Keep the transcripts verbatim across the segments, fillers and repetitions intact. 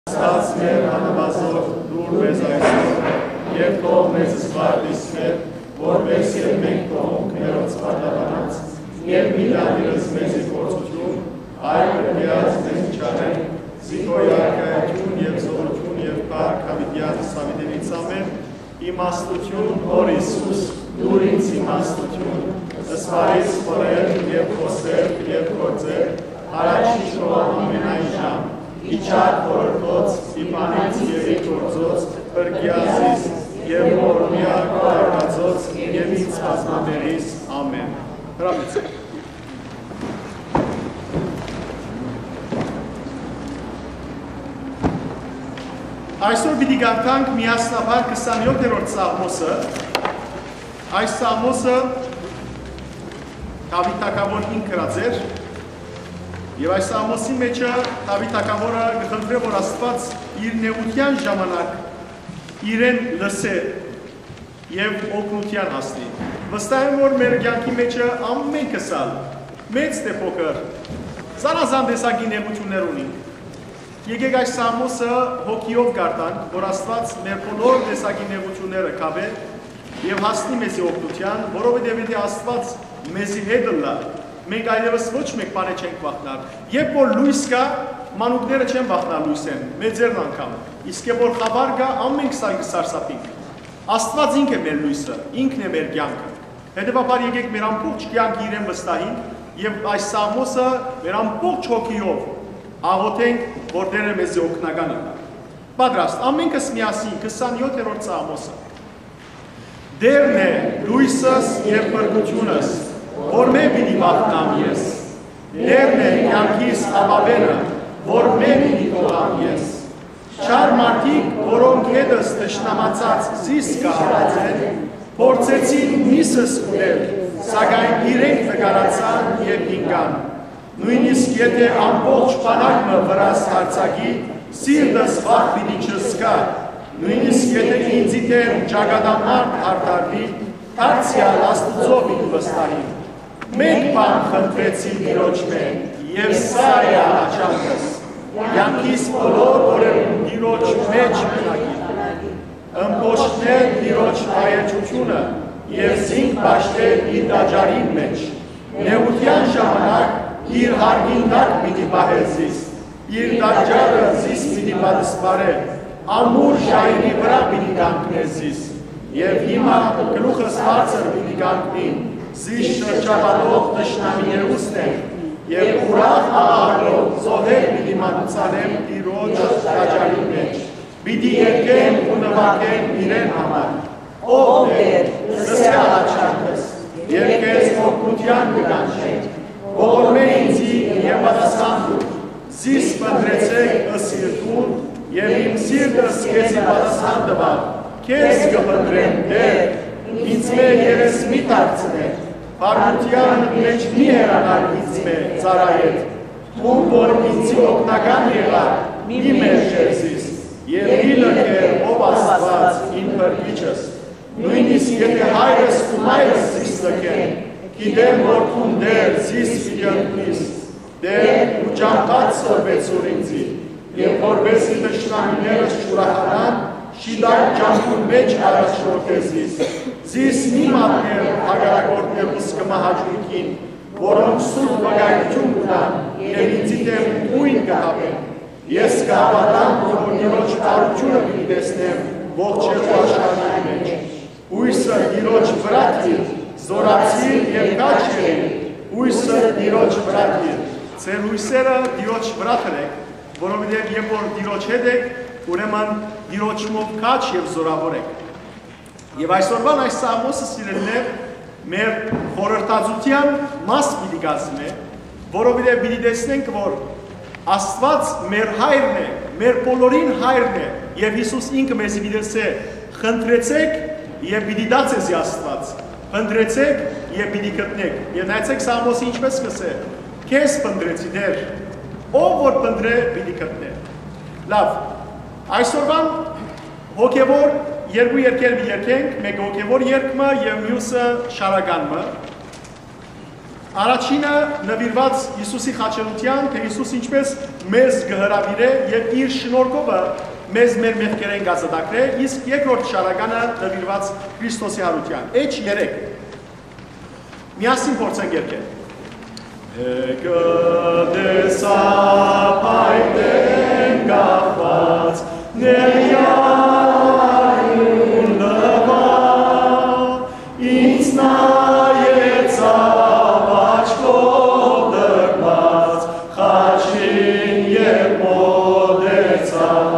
Աստուած մեր աննուազօր, լուր մեզ այսօր, եւ թող մեզ զբաղ դիսմեր, որպէս եւ մենք թողունք մերոնց պարտականաց, եւ մի տանիրս մեզի փորձութիւն, այլ կրկեած մեզ չարեն, զի քո երկայութիւն եւ զօրութիւն եւ փառք հաւիտեան սավիտենից ամեն, իմաստութիւն, Հօր Յիսուս, դուր ինձ իմաստութիւն, սպարիս խորհել եւ խօսել եւ գործել, առաջին քո ամենայն ժամ, իջար խորհրդոց, իբանից եւ ի գործոց, փրկիա զիս, եւ որմիա քո արարածոց, եւ ինձ բազմաբերիս։ Ամեն։ Հրամիցը։ Այսօր պիտի կարդանք միասնաբար քսանեօթերորդ Սաղմոսը։ Այս Սաղմոսը Դաւիթ թագաւոր ինք գրած էր, եւ այս Սաղմոսի մեջը Դաւիթ թագաւորը կը խնդրէ, որ Աստուած իր նեղութեան ժամանակ իրեն լսէ եւ օգնութեան հասնի։ Վստահ եմ, որ մեր կեանքի մեջը ամենքս ալ, մեծ թէ փոքր, զանազան տեսակի նեղութիւններ ունինք։ Եկեք այս Սաղմոսը հոգիով կարդանք, որ Աստուած մեր բոլոր տեսակի նեղութիւնները կապէ եւ հասնի մեզի օգնութեան, որովհետեւ եթէ Աստուած մեզի հետ ըլլայ, մենք այլեւս ոչ մէկ բանէ չենք վախնար։ Երբ որ լոյս կայ, մանուկները չեն վախնար լոյսէն, մեծերն անգամ։ Իսկ երբ որ խաւար կայ, ամենքս ալ կը սարսափինք։ Աստուած ինք է մեր լոյսը, ինքն է մեր կեանքը։ Հետեւաբար եկեք մեր ամբողջ կեանքը իրեն վստահենք եւ այս Սաղմոսը մեր ամբողջ հոգիով աղօթենք, որ Տէրը մեզի օգնական ըլլայ։ Պատրաստ, ամենքս միասին, քսանեօթերորդ Սաղմոսը։ Տէրն է լոյսս եւ փրկութիւնս, որմէ պիտի վախնամ ես։ Տէրն է կեանքիս ապաւէնը, որմէ պիտի դողամ ես։ Չար մարդիկ, որոնք հետս թշնամացած զիս կը հալածեն, փորձեցին միսս ուտել, սակայն իրենք նկարացան եւ ինկան։ Նոյնիսկ եթէ ամբողջ բանակ մը վրաս յարձակի, սիրտս վախ պիտի չզգայ, նոյնիսկ եթէ ինծի դէմ ճակատամարդ յարդարուի, դարձեալ Աստուծոյ պիտի վստահի։ Մէկ բան խնդրեցի Տիրոջմէ, եւ սա է աղաչանքս. կեանքիս բոլոր օրերուն Տիրոջ մէջ մնայ, ըմբոշխնէ Տիրոջ հայեցութիւնը եւ զինք պաշտէ իր տաճարին մէջ։ Նեղութեան ժամանակ իր յարկին տակ պիտի պահէ զիս, իր տաճարը զիս պիտի պատսպարէ, ամուր ժայռի վրայ պիտի կանգնէ զիս։ Եւ հիմա գլուխս բարձր պիտի կանգնին զիս շրջապատող թշնամիներուս դէմ, եւ ուրախ աղաղակով զոհեր պիտի մատուցանեմ Տիրոջ տաճարին մէջ։ Պիտի երգեմ ու նուագեմ իրեն համար։ Ով Տէր, լսէ աղաչանքս, եւ քեզ օգնութեան կը կանչեմ։ Ողորմէ ինծի եւ պատասխան տուր։ Զիս փնտռեցէք, ըսիր դուն, եւ իմ սիրտս քեզի պատասխան տուաւ։ Քեզ կը փնտռեմ, Տէր, ինծմէ երես մի դարձնէ, բարկութեան մէջ մի հեռանար ինծմէ, ծառայէդ։ Դուն որ ինծի օգնական եղար, մի մերժեր զիս, եւ մի լքեր, ով Աստուած, իմ փրկիչս։ Նոյնիսկ եթէ հայրս ու մայրս զիս լքեն, գիտեմ որ դուն, Տէր, զիս պիտի ընկնիս։ Տէր, ու ճամբադ սորվեցուր ինծի, եւ որպէս զի թշնամիներս չուրախանան, շիտակ ճամբուն մէջ առաջնորդէ զիս։ Զիս մի մատնէ հակառակորդներուս կը մահաճույքին, որոնք սուտ վկայութիւն կու տան եւ ինծի դէմ յոյն կը հապեն։ Ես կը հաւատամ, որ Տիրոջ բարութիւնը պիտի տեսնեմ ողջերու աշխարհին մէջ։ Յոյսը Տիրոջ վրայ դիր, զօրացիր եւ քաջ եղիր, յոյսը Տիրոջ վրայ դիր։ Ձեր յոյսերը Տիրոջ վրայ դրէք, որովհետեւ երբ որ Տիրոջ հետ էք, ուրեմն Տիրոջմով քաջ եւ զօրաւոր էք։ Եւ այսօրվան այս Սաղմոսը, սիրելիներ, մեր խորհրդածութեան մաս պիտի կազմէ, որովհետեւ պիտի տեսնենք, որ Աստուած մեր հայրն է, մեր բոլորին հայրն է, եւ Յիսուս ինքը մեզի պիտի ըսէ. «Խնդրեցէք, եւ պիտի տայ ձեզի Աստուած, խնդրեցէք, եւ պիտի գտնէք»։ Եւ նայեցէք, Սաղմոսը ինչպես կ'ըսէ. «Քեզ փնտռեցի, Տէր, ով որ փնտռէ, պիտի գտնէ»։ Լաւ, այսօրվան հոգեվոր երկու երգեր պիտի երգենք, մէկը հոգեվոր երգ մը եւ միւսը շարական մը։ Առաջինը նուիրուած Յիսուսի խաչելութեան, թէ Յիսուս ինչպէս մեզ կը հրաւիրէ եւ իր շնորհքովը մեզ մեր մեղքերէն կ'ազատագրէ, իսկ երկրորդ շարականը նուիրուած Քրիստոսի յարութեան։ Էջ երեք։ Միասին փորձենք երգել։ Մեկը տեսա փայտեն կախուած, ներյայուն լվա, ինձ նայեցաւ աչքով դրմած, խաչին երբ մօտեցաւ,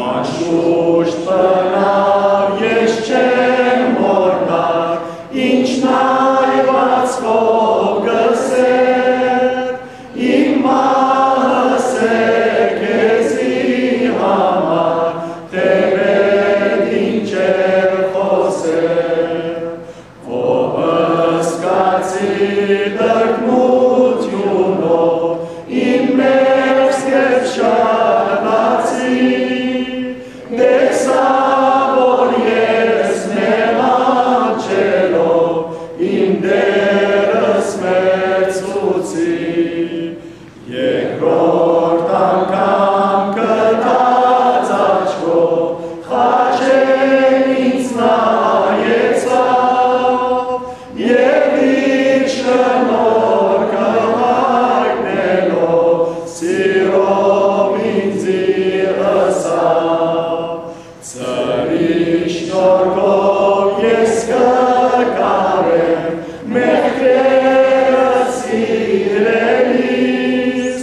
անշուշտ բնաւ ես չեմ մոռնար, ինչ նայվածքով կ'ըսէր, իմ մահս է քեզի համար, թէ մէտ ինչ էր խօսեր։ Ով սկացի տրտմութիւնով իմ մեղքերս շարացի, տեսայ, որ ես մեղանչելով իմ Տէրս մերձեցի։ Երկրորդ անգամ կտրած աչքով խաչէն ինձ նայեցաւ եւ իր շնորհքը յայտնելով սիրով ինծի ըսաւ. Ծրիշ շնորհքով ես կը կարեմ մեղքերս սիրելիս,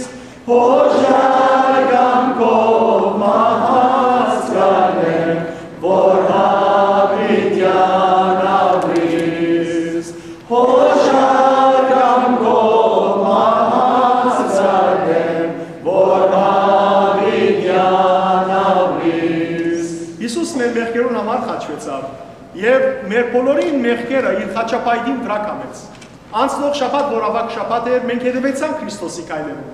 հոժար կամքով մահս կ'առնեմ, որ յաւիտեան ապրիս։ Հոժար կամքով մահս կ'առնեմ, որ յաւիտեան ապրիս։ Յիսուս մեր մեղքերուն համար խաչուեցաւ եւ մեր բոլորին մեղքերը իր խաչապայտին վրայ կամեց։ Անցնող շաբաթ, որ աւագ շաբաթ էր, մենք հետեւեցանք Քրիստոսի քայլերուն։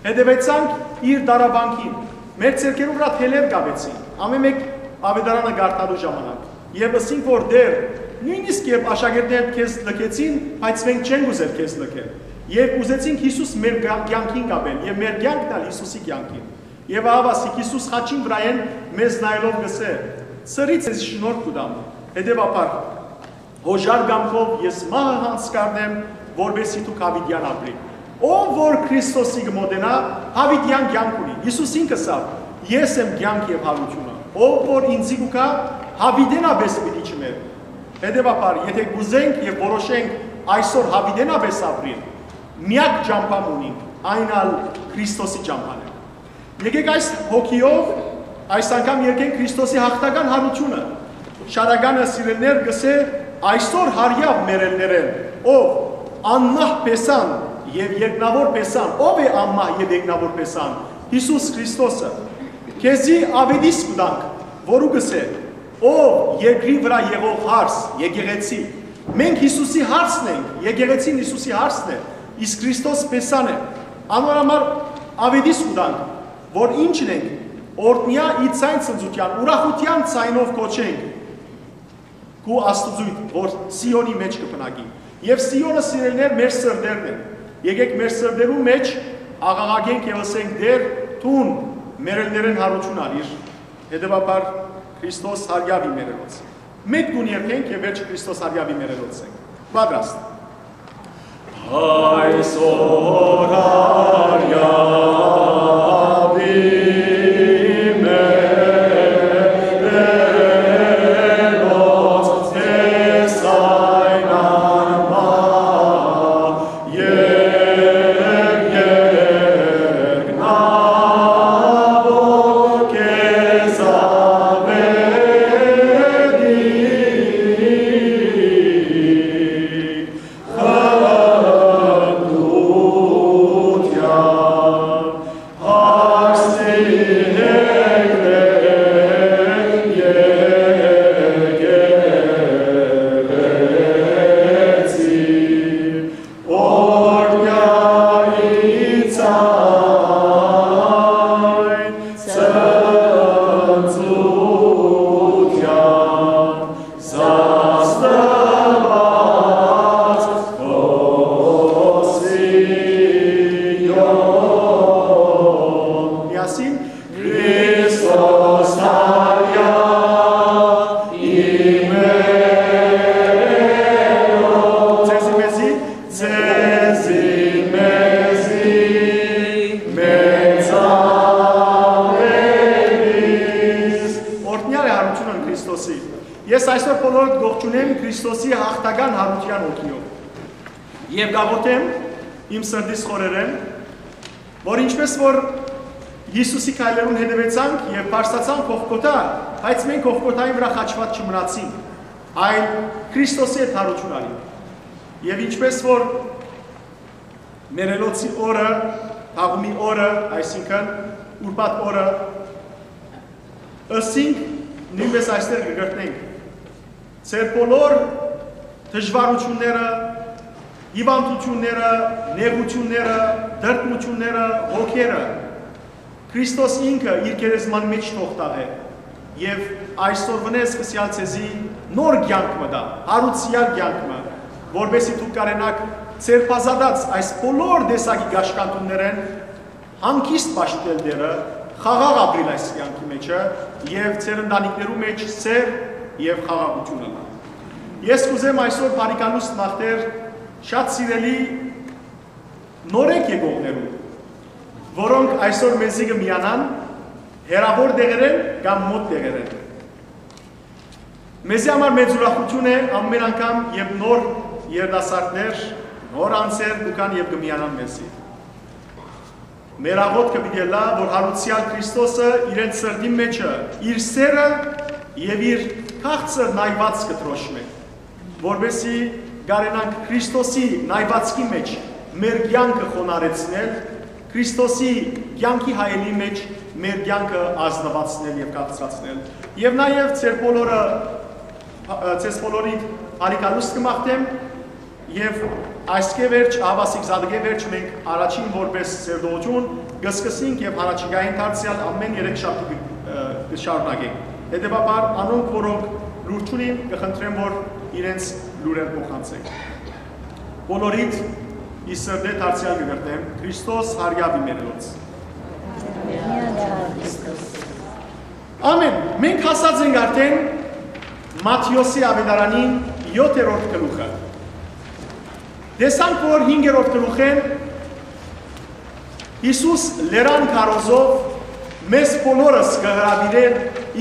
Հետեւեցանք իր դարավանքին։ Մեր ձեռքերուն վրայ թելեր կաւեցին, ամէն մէկ աւետարանը կարդալու ժամանակ։ Եւ ըսինք, որ Տէր, նոյնիսկ երբ աշակերտներդ քեզ լքեցին, բայց մենք չենք ուզեր քեզ լքել։ Երբ ուզեցինք Յիսուս մեր կա-, կեանքին կապել եւ մեր կեանքն ալ Յիսուսի կեանքին։ Եւ ահա ասիկ Յիսուս խաչին վրայէն մեզ նայելով կ'ըսէ. «Սրից ես շնորհք կու տամ»։ Հետեւաբար, հոժար կամքով ես մահը յանձն կ'առնեմ, որպէսզի դուք յաւիտեան ապրիք։ Ով որ Քրիստոսի կը մօտենայ, յաւիտեան կեանք ունի։ Յիսուս ինք ըսաւ. «Ես եմ կեանքը եւ յարութիւնը։ Ով որ ինծի կու գայ, յաւիտենապէս պիտի չմեռնի»։ Հետեւաբար, եթէ կ'ուզենք եւ որոշենք այսօր յաւիտենապէս ապրիլ, միակ ճամբան ունինք, այն ալ Քրիստոսի ճամբան է։ Եկեք այս հոգիով այս անգամ երգենք Քրիստոսի յաղթական յարութիւնը։ Շարականը, սիրելիներ, կ'ըսէ. «Այսօր յարեաւ մեռելներէն, ով անմահ Փեսան եւ երկնաւոր Փեսան»։ Ո՞վ է անմահ եւ երկնաւոր Փեսան։ Յիսուս Քրիստոսը։ «Քեզի աւետիս կու տանք», որու կ'ըսէ. «Ով երկրի վրայ եղող հարս, եկեղեցի»։ Մենք Յիսուսի հարսն ենք, եկեղեցին Յիսուսի հարսն է, իսկ Քրիստոս Փեսան է։ Անոր համար աւետիս կու տանք, որ ինչն ենք, օրհնեալ ի ձայն ցնծութեան, ուրախութեան ձայնով կոչենք, քու Աստուծոյդ, որ Սիոնի մէջ կը բնակի։ Եւ Սիոնը, սիրելիներ, մեր սրտերն են։ Եկեք մեր սրտերու մէջ աղաղակենք եւ ըսենք. «Տէր, դուն մեռելներէն յարութիւն ալիր»։ Հետեւաբար, Քրիստոս յարեաւ ի մեռելոց։ Մէկ տուն երգենք եւ վերջ Քրիստոս յարեաւ ի մեռելոց ենք։ Պատրաստ։ Այսօր յարեաւ ի մեռելոց, ես այն անմահ եւ երկնաւոր քեզ աւետի խնդրութեան։ Ես այսօր բոլորդ կողջունեմ Քրիստոսի յաղթական յարութեան հոգիով եւ կաղոթեմ իմ սրտիս խորերէն, որ ինչպես որ Յիսուսի քայլերուն հետեւեցանք եւ բարձրացանք Կողքոթա, բայց մենք Կողքոթայի վրայ խաչուած չմնացինք, այլ Քրիստոսի հետ յարութիւն առինք։ Եւ ինչպես որ մեռելոցի օրը, թաղումի օրը, այսինքն՝ ուրբաթ օրը, ըսինք, նոյնպէս այստեղ կը կրթենք. ձեր բոլոր դժուարութիւնները, հիւանդութիւնները, նեղութիւնները, տրտմութիւնները, հոգերը, Քրիստոս ինքը իր գերեզման մէջ թող թաղէ եւ այսօրունէ սկսեալ ձեզի նոր կեանք մը տայ, յարուցեալ կեանք մը, որպէսզի դուք կարենաք ձեր բազատած այս բոլոր տեսակի կաշկանդումներէն հանգիստ պաշտպանել Տէրը, խաղաղ ապրիլ այս կեանքի մէջը եւ ձեր ընտանիքներու մէջ սէր եւ խաղաղութիւն ըլլայ։ Ես կ'ուզեմ այսօր բարիքալուստ մաղթել շատ սիրելի նորեկ եկողներուն, որոնք այսօր մեզի կը միանան հեռաւոր տեղերէն կամ մօտ տեղերէն։ Մեզի համար մեծ ուրախութիւն է ամէն անգամ, երբ նոր երիտասարդներ, նոր անձեր կու գան եւ կը միանան մեզի։ Մեր աղօթքը պիտի ըլլայ, որ յարուցեալ Քրիստոսը իրենց սրտին մէջը իր սէրը եւ իր քաղցր նայուածքը դրոշմէ, որպէսզի կարենանք Քրիստոսի նայուածքի մէջ մեր կեանքը խոնարհեցնել, Քրիստոսի կեանքի հայելի մէջ մեր կեանքը ազնուացնել եւ քաղցրացնել։ Եւ նաեւ ձեր բոլորը, ձեզ բոլորիդ բարիքալուստ կը մաղթեմ, եւ այսքէ վերջ, ահաւասիկ զատկէ վերջ, մենք առաջին որպէս սերտողութիւն կը սկսենք եւ յառաջիկային դարձեալ ամէն երեք շաբթի կը, ը, կը շարունակենք։ Հետեւաբար, անոնք, որոնք լուր չունին, կը խնդրեմ, որ իրենց լուրեր փոխանցենք։ Բոլորիդ ի սրտէ դարձեալ կը կրթեմ, Քրիստոս հարիաւի մերելոց։ Ամէն։ Մենք հասած ենք արդեն Մատթէոսի աւետարանին յոթերորդ գլուխը։ Տեսանք, որ հինգերորդ գլուխէն Յիսուս լերան քարոզով մեզ բոլորս կը հրաւիրէ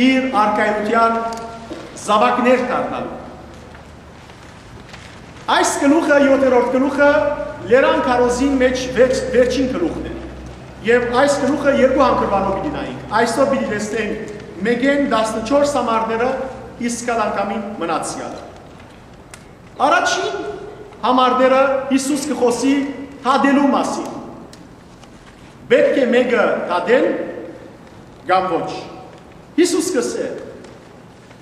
իր արքայութեան զաւակներ դառնալու։ Այս գլուխը, յոթերորդ գլուխը, լերան քարոզին մէջ վեր-, վերջին գլուխն է։ Եւ այս գլուխը երկու հանգրուանով պիտի նայենք։ Այսօր պիտի տեսնենք մէկէն տասնչորս համարները, իսկ ալ անգամին մնացեալը։ Առաջին համարները Յիսուս կը խօսի դատելու մասին։ Պէտք է մէկը դատել կամ ոչ։ Յիսուս կ'ըսէ.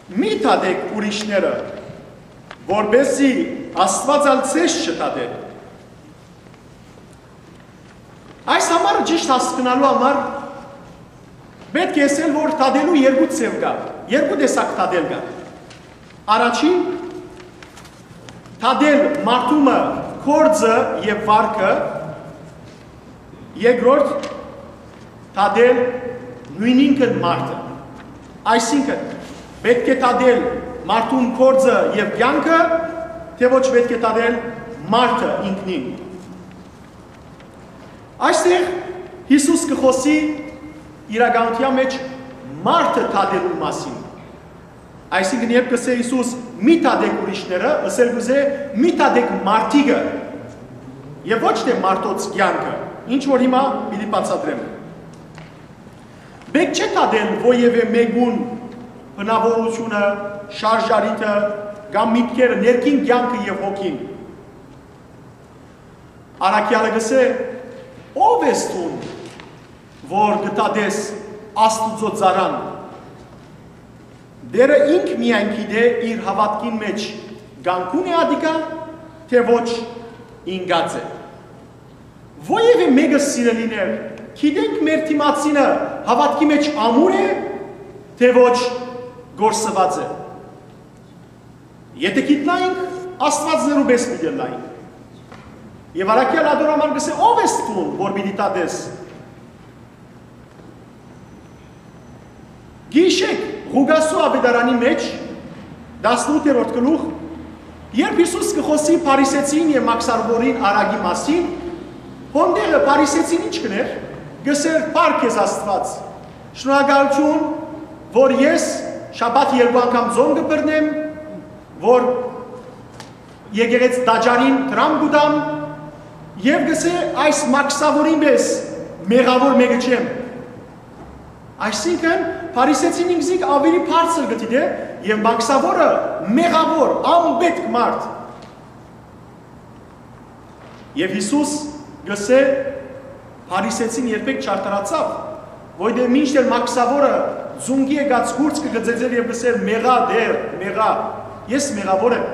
«Մի դատէք ուրիշները, որպէսզի Աստուած ալ ձեզ չդատէ»։ Այս համարը ճիշդ հասկնալու համար պէտք է ըսել, որ դատելու երկու ձեւ կայ, երկու տեսակ դատել կայ։ Առաջին, դատել մարդու մը գործը եւ վարքը, երկրորդ, դատել նոյնինքն մարդը։ Այսինքն, պէտք է դատել մարդուն գործը եւ կեանքը, թէ ոչ պէտք է դատել մարդը ինքնին։ Այստեղ Յիսուս կը խօսի իրականութեան մէջ մարդը դատելու մասին։ Այսինքն, երբ կ'ըսէ Յիսուս՝ «Մի դատեք ուրիշները», ըսել կ'ուզէ՝ «Մի դատեք մարդիկը», եւ ոչ թէ մարդոց կեանքը, ինչ որ հիմա պիտի բացատրեմ։ Պէտք չէ դատել որեւէ մէկուն բնաւորութիւնը, շարժառիթը կամ միտքերը, ներքին կեանքը եւ հոգին։ Առաքեալը կ'ըսէ. «Ո՞վ ես դուն, որ կը դատես Աստուծոյ ծառան»։ Տէրը ինք միայն գիտէ իր հաւատքին մէջ կանգուն է ատիկա, թէ ոչ ինկած է։ Որեւէ մէկը, սիրելիներ, գիտենք մեր դիմացինը հաւատքի մէջ ամուր է, թէ ոչ կորսուած է։ Եթէ գիտնայինք, աստուածներու պէս պիտի ըլլայինք։ Եւ առաքեալ ատոր համար կ'ըսէ. «Ո՞վ ես դուն, որ պիտի դատես»։ Գիշեք, Ղուկասու աւետարանի մէջ, տասնութերորդ գլուխ, երբ Յիսուս կը խօսի փարիսեցին եւ մաքսարուորին արագի մասին, հոն տեղը փարիսեցին ի՞նչ կ'ընէր, կ'ըսէր. «Փառք քեզ, Աստուած, շնորհակալութիւն, որ ես Շաբաթ երկու անգամ ծոմ կը բռնեմ, որ եկեղեցի տաճարին դրամ կու տամ, եւ կ'ըսէ, այս մաքսաւորին պէս մեղաւոր մէկը չեմ։ Այսինքն, փարիսեցին ինքզինք աւելի բարձր կը դիտէ, եւ մաքսաւորը մեղաւոր, անպետք մարդ։ Եւ Յիսուս կ'ըսէ, փարիսեցին երբեք չարդարացաւ, որտեղ մինչդեռ մաքսաւորը ծունկի եկած կուրծքը կը ծեծէր եւ կ'ըսէր. «Մեղա, Տէր, մեղա, ես մեղաւոր եմ»։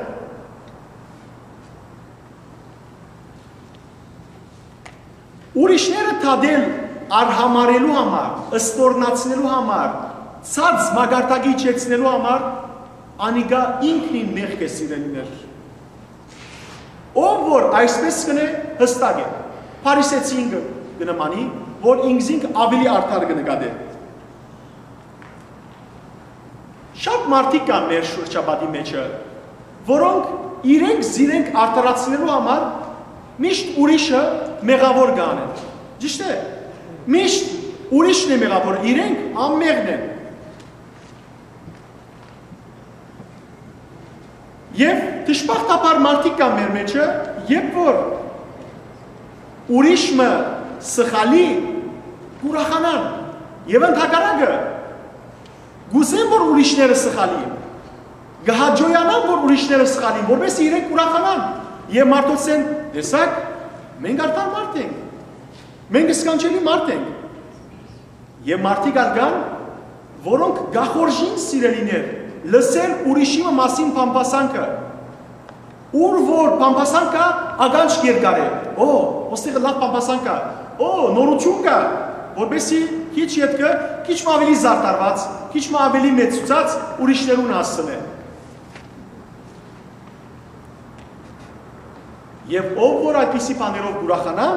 Ուրիշները դատել, արհամարելու համար, ստորնացնելու համար, ցած մակարդակի իջեցնելու համար, անիկա ինքնին մեղք է, սիրելիներ։ Ով որ այսպես կ'ընէ, յստակ է, փարիսեցին կը, կը նմանի, որ ինքզինք աւելի արդար կը նկատէ։ Շատ մարդիկ կան մեր շրջապատի մէջը, որոնք իրենք զիրենք արդարացնելու համար միշտ ուրիշը մեղաւոր կ'անեն։ Ճիշդ է, միշտ ուրիշն է մեղաւոր, իրենք անմեղն են։ Եւ դժբախտաբար մարդիկ կան մեր մէջը, երբ որ ուրիշ մը սխալի, կ'ուրախանան, եւ ընդհակառակը, կ'ուզեն, որ ուրիշները սխալին, կը հաճոյանան, որ ուրիշները սխալին, որպեսզի իրենք ուրախանան եւ մարդոցեն. «Տեսա՞ք, մենք արդար մարդ ենք, մենք սքանչելի մարդ ենք»։ Եւ մարդիկ ալ կան, որոնք կախորժին, սիրելիներ, լսել ուրիշի մը մասին բամբասանքը։ Ուր որ բամբասանք կայ, ականջ երկար է. «Օ, ոստեղը լաւ բամբասանք կայ, օ, նորութիւն կայ», որպեսզի քիչ ետքը, քիչ մը աւելի զարդարուած, քիչ մը աւելի մեծցուցած, ուրիշներուն հասցնէ։ Եւ ով որ այդպիսի բաներով կ'ուրախանայ,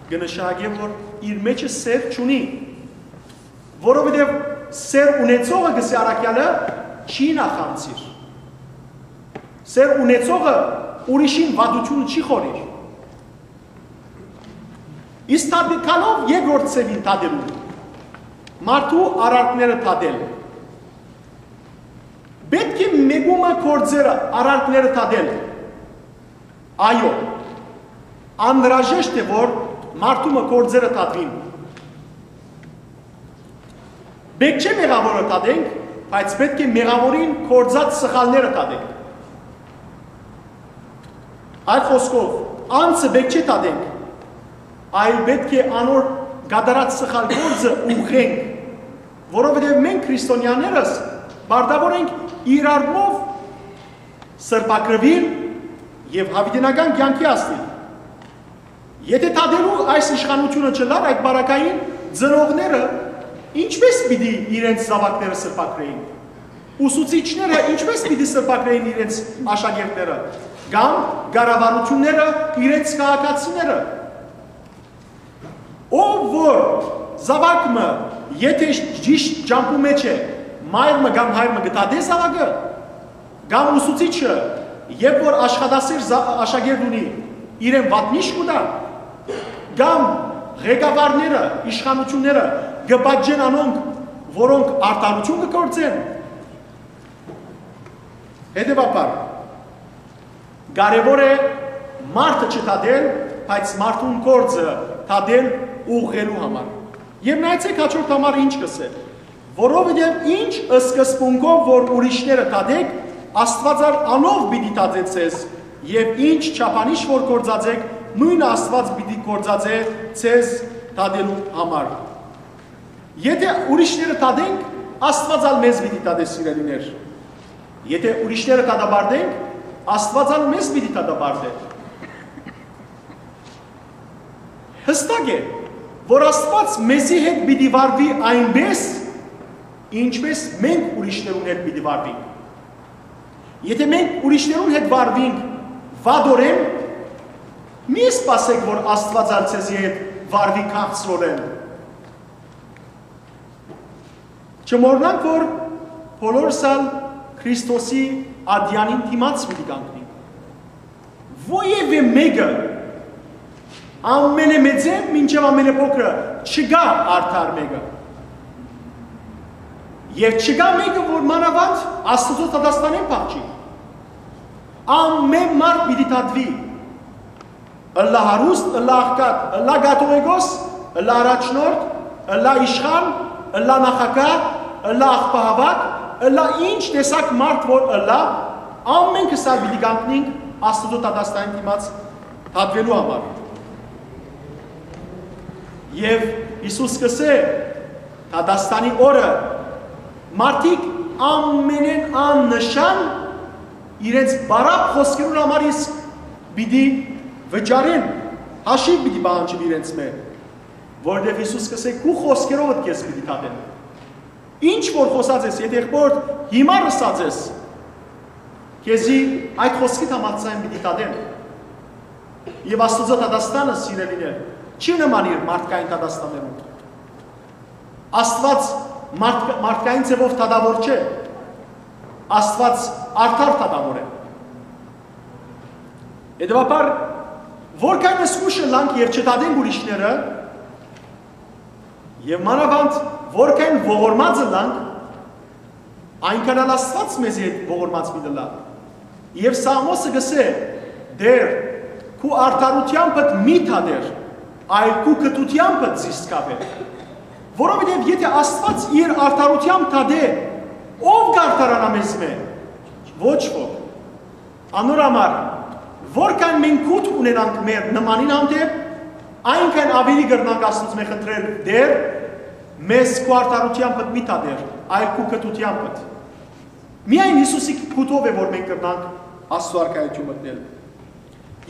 կը նշանակէ, որ իր մէջը սէր չունի, որովհետեւ սէր ունեցողը, կ'ըսէ առաքեալը, չի նախանձիր։ Սէր ունեցողը ուրիշին վատութիւնը չի խորիր։ Իսկ դատկալով երկրորդ ձեւին դատելու, մարդու արարքները դատել։ Պէտք է մէկու մը գործերը, արարքները դատել։ Այո, անհրաժեշտ է, որ մարդու մը գործերը դատուին։ Պէտք չէ մեղաւորը դատենք, բայց պէտք է մեղաւորին գործած սխալները դատենք։ Այլ խօսքով, անձը պէտք չէ դատենք, այլ պէտք է անոր կատարած սխալ գործը ուղղենք, որովհետեւ մենք քրիստոնյաներս պարտաւոր ենք իրարմով սրբագրուիլ եւ յաւիտենական կեանքի հասնիլ։ Եթէ դատելու այս իշխանութիւնը չըլլար, այդ պարագային ծնողները ինչպէս պիտի իրենց զաւակները սրբագրէին, ուսուցիչները ինչպէս պիտի սրբագրէին իրենց աշակերտները, կամ կառավարութիւնները իրենց քաղաքացիները։ Ով որ զաւակ մը, եթէ ճիշդ ճամբու մէջ է, մայր մը կամ հայր մը կը դատէ զաւակը, կամ ուսուցիչը, երբ որ աշխատասեր զա-, աշակերտ ունի, իրեն վատնիշ կու տայ, կամ ղեկավարները, իշխանութիւնները կը պատժեն անոնք, որոնք արդարութիւն կը գործեն։ Հետեւաբար, կարեւոր է մարդը չդատել, բայց մարդուն գործը դատել, ուղղելու համար։ Եւ նայեցէք հաջորդ համար ինչ կ'ըսէ. «Որովհետեւ ինչ սկզբունքով որ ուրիշները դատէք, Աստուած ալ անով պիտի դատէ ձեզ, եւ ինչ չափանիշ որ գործածէք, նոյնը Աստուած պիտի գործածէ ձեզ դատելու համար»։ Եթէ ուրիշները դատենք, Աստուած ալ մեզ պիտի դատէ, սիրելիներ։ Եթէ ուրիշները դատապարտենք, Աստուած ալ մեզ պիտի դատապարտէ։ Յստակ է, որ Աստուած մեզի հետ պիտի վարուի այնպէս, ինչպէս մենք ուրիշներուն հետ պիտի վարուինք։ Եթէ մենք ուրիշներուն հետ վարուինք վատօրէն, մի սպասէք, որ Աստուած ալ ձեզի հետ վարուի քաղցրօրէն։ Չմոռնանք, որ բոլորս ալ Քրիստոսի ատեանին դիմաց պիտի կանգնենք։ Որեւէ մէկը, ամենամեծէն մինչեւ ամենափոքրը, չկայ արդար մէկը։ Եւ չկայ մէկը, որ մանաւանդ Աստուծոյ դատաստանին փախչի։ Ամէն մարդ պիտի դատուի։ Ըլլայ հարուստ, ըլլայ աղքատ, ըլլայ կաթողիկոս, ըլլայ առաջնորդ, ըլլայ իշխան, ըլլայ նախագահ, ըլլայ աղբահաւաք, ըլլայ ինչ տեսակ մարդ որ ըլլայ, ամէնքը սա պիտի կանգնինք Աստուծոյ դատաստանին դիմաց դատուելու համար։ Եւ Յիսուս կ'ըսէ, դատաստանի օրը մարդիկ ամենէն աննշան իրենց բարակ խօսքերուն համար իսկ պիտի վճարեն, հաշիւ պիտի պահանջին իրենց մէ, որովհետեւ Յիսուս կ'ըսէ, քու խօսքերովդ քեզ պիտի դատեն։ Ինչ որ խօսած ես, եթէ եղբորդ հիմա ըսած ես, քեզի այդ խօսքիդ համաձայն պիտի դատեն։ Եւ Աստուծոյ դատաստանը, սիրելիներ, չի նման իր մարդկային դատաստաններուն։ Աստուած մարդ-, մարդկային ձեւով դատաւոր չէ։ Աստուած արդար դատաւոր է։ Հետեւաբար, որքան զգոյշ ըլլանք եւ չդատենք ուրիշները, եւ մանաւանդ որքան ողորմած ըլլանք, այնքան ալ Աստուած մեզի հետ ողորմած պիտի ըլլայ։ Եւ Սաղմոսը կ'ըսէ. «Տէր, քու արդարութեամբդ մի դատեր, այլ քու գթութեամբդ զիս կապեր»։ Որովհետեւ եթէ Աստուած իր արդարութեամբը դատէ, ո՞վ կ'արդարանայ մեզմէ։ Ոչ ոք։ Անոր համար, որքան մենք գութ ունենանք մեր նմանին հանդէպ, այնքան աւելի կրնանք Աստուծմէ խնդրել. «Տէր, մեզ քու արդարութեամբդ մի դատեր, այլ քու գթութեամբդ»։ Միայն Յիսուսի գութով է, որ մենք կրնանք Աստուծոյ արքայութիւն մտնել։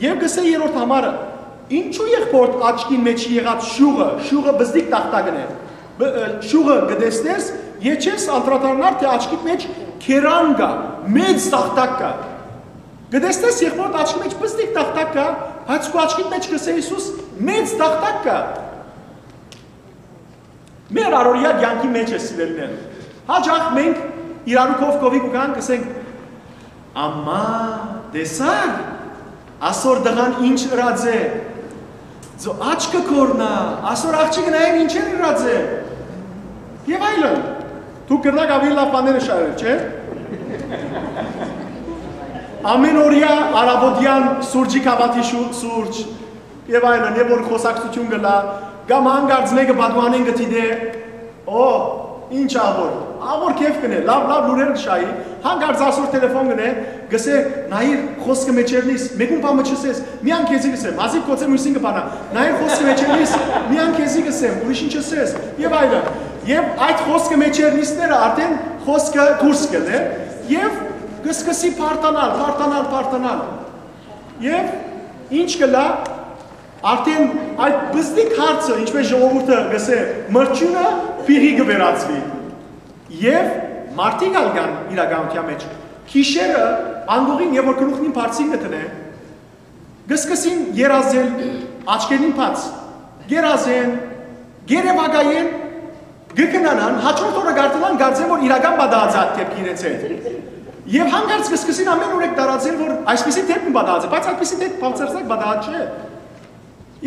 Եւ կ'ըսէ երրորդ համարը. ինչո՞ւ եղբորդ աչքին մէջ եղած շուղը, շուղը բզդիկ տախտակն է, բ-, ը, շուղը կը տեսնես, եւ չես անդրադառնար, թէ աչքիդ մէջ քերան կայ, մեծ տախտակ կայ։ Կը տեսնես, եղբորդ աչքի մէջ բզդիկ տախտակ կայ, բայց քու աչքիդ մէջ, կ'ըսէ Յիսուս, մեծ տախտակ կայ։ Մեր առօրեայ կեանքի մէջ է, սիրելիներ։ Հաճախ մենք իրարու քով քովի կու գանք, կ'ըսենք. «Ամա, տեսա՞ր, ասոր տղան ինչ ըրած է։ Ձո աչքը կորնայ, ասոր աղջիկը նայեր ինչեր ըրած է»։ Եւ այլն։ Դուք կրնաք աւելի լաւ բաները շարել, չէ՞։ Ամէն օրեայ առաւօտեան սուրճի գաւաթի շու-, սուրճ, եւ այլն, եւ որ խօսակցութիւն կ'ըլլայ, կամ հանկարծ մէկը պատուհանէն կը դիտէ, օ, ինչ աղոր, աղոր քեֆ կ'ընէ, լաւ, լաւ լուրեր կը շահի, հանկարծ ասոր տելեֆոն կ'ընէ, կ'ըսէ. «Նայիր, խօսքը մէջերնիս, մէկուն բան մը չ'ըսես, միայն քեզի կ'ըսեմ, հազիւ գուցե միւսին կը բանայ, նայիր, խօսքը մէջերնիս, միայն քեզի կ'ըսեմ, ուրիշին չ'ըսես», եւ այլն։ Եւ այդ խօսքը մէջերնիսները արդէն խօսքը դուրս կ'ելլէ, եւ կը սկսի բարդանալ, բարդանալ, բարդանալ։ Եւ ինչ կ'ըլլայ, արդէն այդ բզդիկ հարցը, ինչպէս ժողովուրդը կ'ըսէ, մրջիւնը փիղի կը վերածուի։ Եւ մարդիկ ալ կան իրականութեան մէջ։ Գիշերը անկողին, երբ որ գլուխնին բարձին կը դնէ, կը սկսին երազել, աչքերին բաց, երազեն, երեւակայեն, կը քնանան, հաջորդ օրը կարդալան, կարծեն, որ իրական պատահած է այդ դեպքը իրենց հետ։ Եւ հանկարծ կը սկսին ամէն ուրեք տարածել, որ այսպիսի դեպք մը պատահած է, բայց այդպիսի դեպք բարձրացակ պատահած չէ։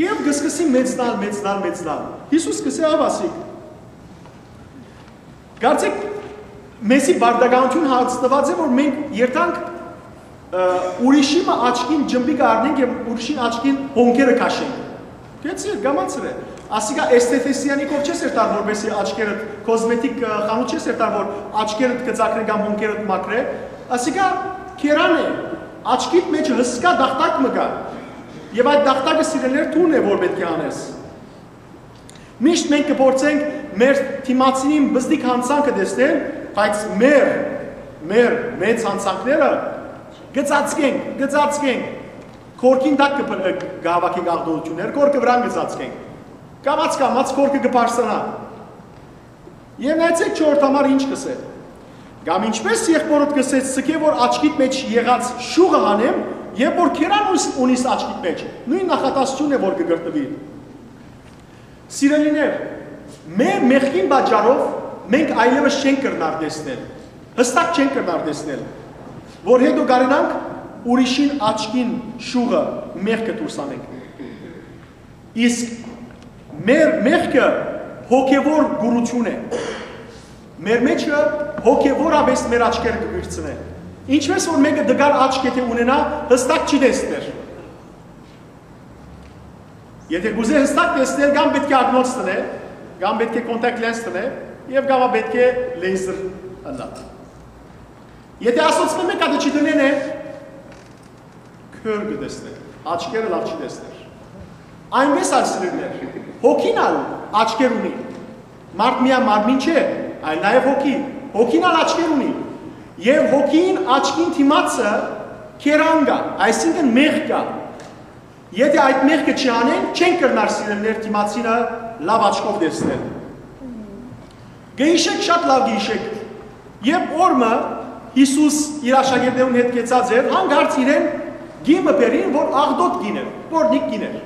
Եւ կը սկսին մեծնալ, մեծնալ, մեծնալ։ Յիսուս կ'ըսէ. «Ահա ասիկ»։ Կարծեք, մեզի բարդականութիւն հաստատուած է, որ մենք երթանք, ը, ուրիշի մը աչքին ջմբիկը առնենք եւ ուրիշին աչքին հոնքերը քաշենք։ Գեցի, կամացր է։ Ասիկա էսթեթեսիանի կով չես երթար, որպեսի աչքերդ, կոզմետիկ, ը, խանութ չես երթար, որ աչքերդ կծակրե կամ հոնքերդ մաքրե։ Ասիկա քերան է, աչքիդ մեջ հսկայ տախտակ մը կայ։ Եւ այդ տախտակը, սիրելիներ, դուն է, որ պէտք է անես։ Միշտ մենք կփորձենք մեր դիմացինին բզդիկ յանցանքը տեսնել, բայց մեր, մեր մեծ յանցանքները կը ծածկենք, կը ծածկենք, կորքին տակ կը փ-, կը հավաքենք աղտոտություններ, կորքը վրան կը ծածկենք։ Կամաց-կամաց կորքը կը բարձրանայ։ Եւ նայեցեք չորրորդ համար ինչ կ'ըսէ. «Կամ ինչպէս եղբորդ կ'ըսեց, սկէ որ աչքիդ մեջ եղած շուղը հանեմ, երբ որ քերան ունիս, ունիս աչքիդ մեջ», նոյն նախադասութիւնն է, որ կը կրթուի։ Սիրելիներ, մեր մեղքին պատճառով մենք այլեւս չենք կրնար տեսնել, հստակ չենք կրնար տեսնել, որ հետո կարենանք ուրիշին աչքին շուղը, մեղքը դուրս անենք։ Իսկ մեր մեղքը հոգեվոր կուրություն է։ Մեր մեջը հոգեւորապէս մեր աչքերը կը վիրցնէ։ Ինչպէս որ մէկը դգար աչք եթէ ունենայ, յստակ չի տեսներ։ Եթէ կ'ուզէ յստակ տեսնել, կամ պէտք է ակնոց դնէ, կամ պէտք է contact lens դնէ, եւ կամ պէտք է laser ըլլայ։ Եթէ ասոնցմէ մէկը հատը չդնեն է, քոր կը տեսնէ, աչքերը լաւ չի տեսներ։ Այնպէս ալ, սիրելիներ, հոգին ալ աչքեր ունի։ Մարդ միայն մարմին չէ, այլ նաեւ հոգի։ Հոգին ալ աչքեր ունի։ Եւ հոգին, աչքին դիմացը կերան կայ, այսինքն՝ մեղք կայ։ Եթէ այդ մեղքը չանենք, չենք կրնար, սիրելիներ, դիմացինը լաւ աչքով տեսնել։ Կը յիշէք, շատ լաւ կը յիշէք, երբ օր մը Յիսուս իր աշակերտներուն հետ կեցած էր, հանկարծ իրեն կին մը բերին, որ աղտոտ կին էր, պոռնիկ կին էր։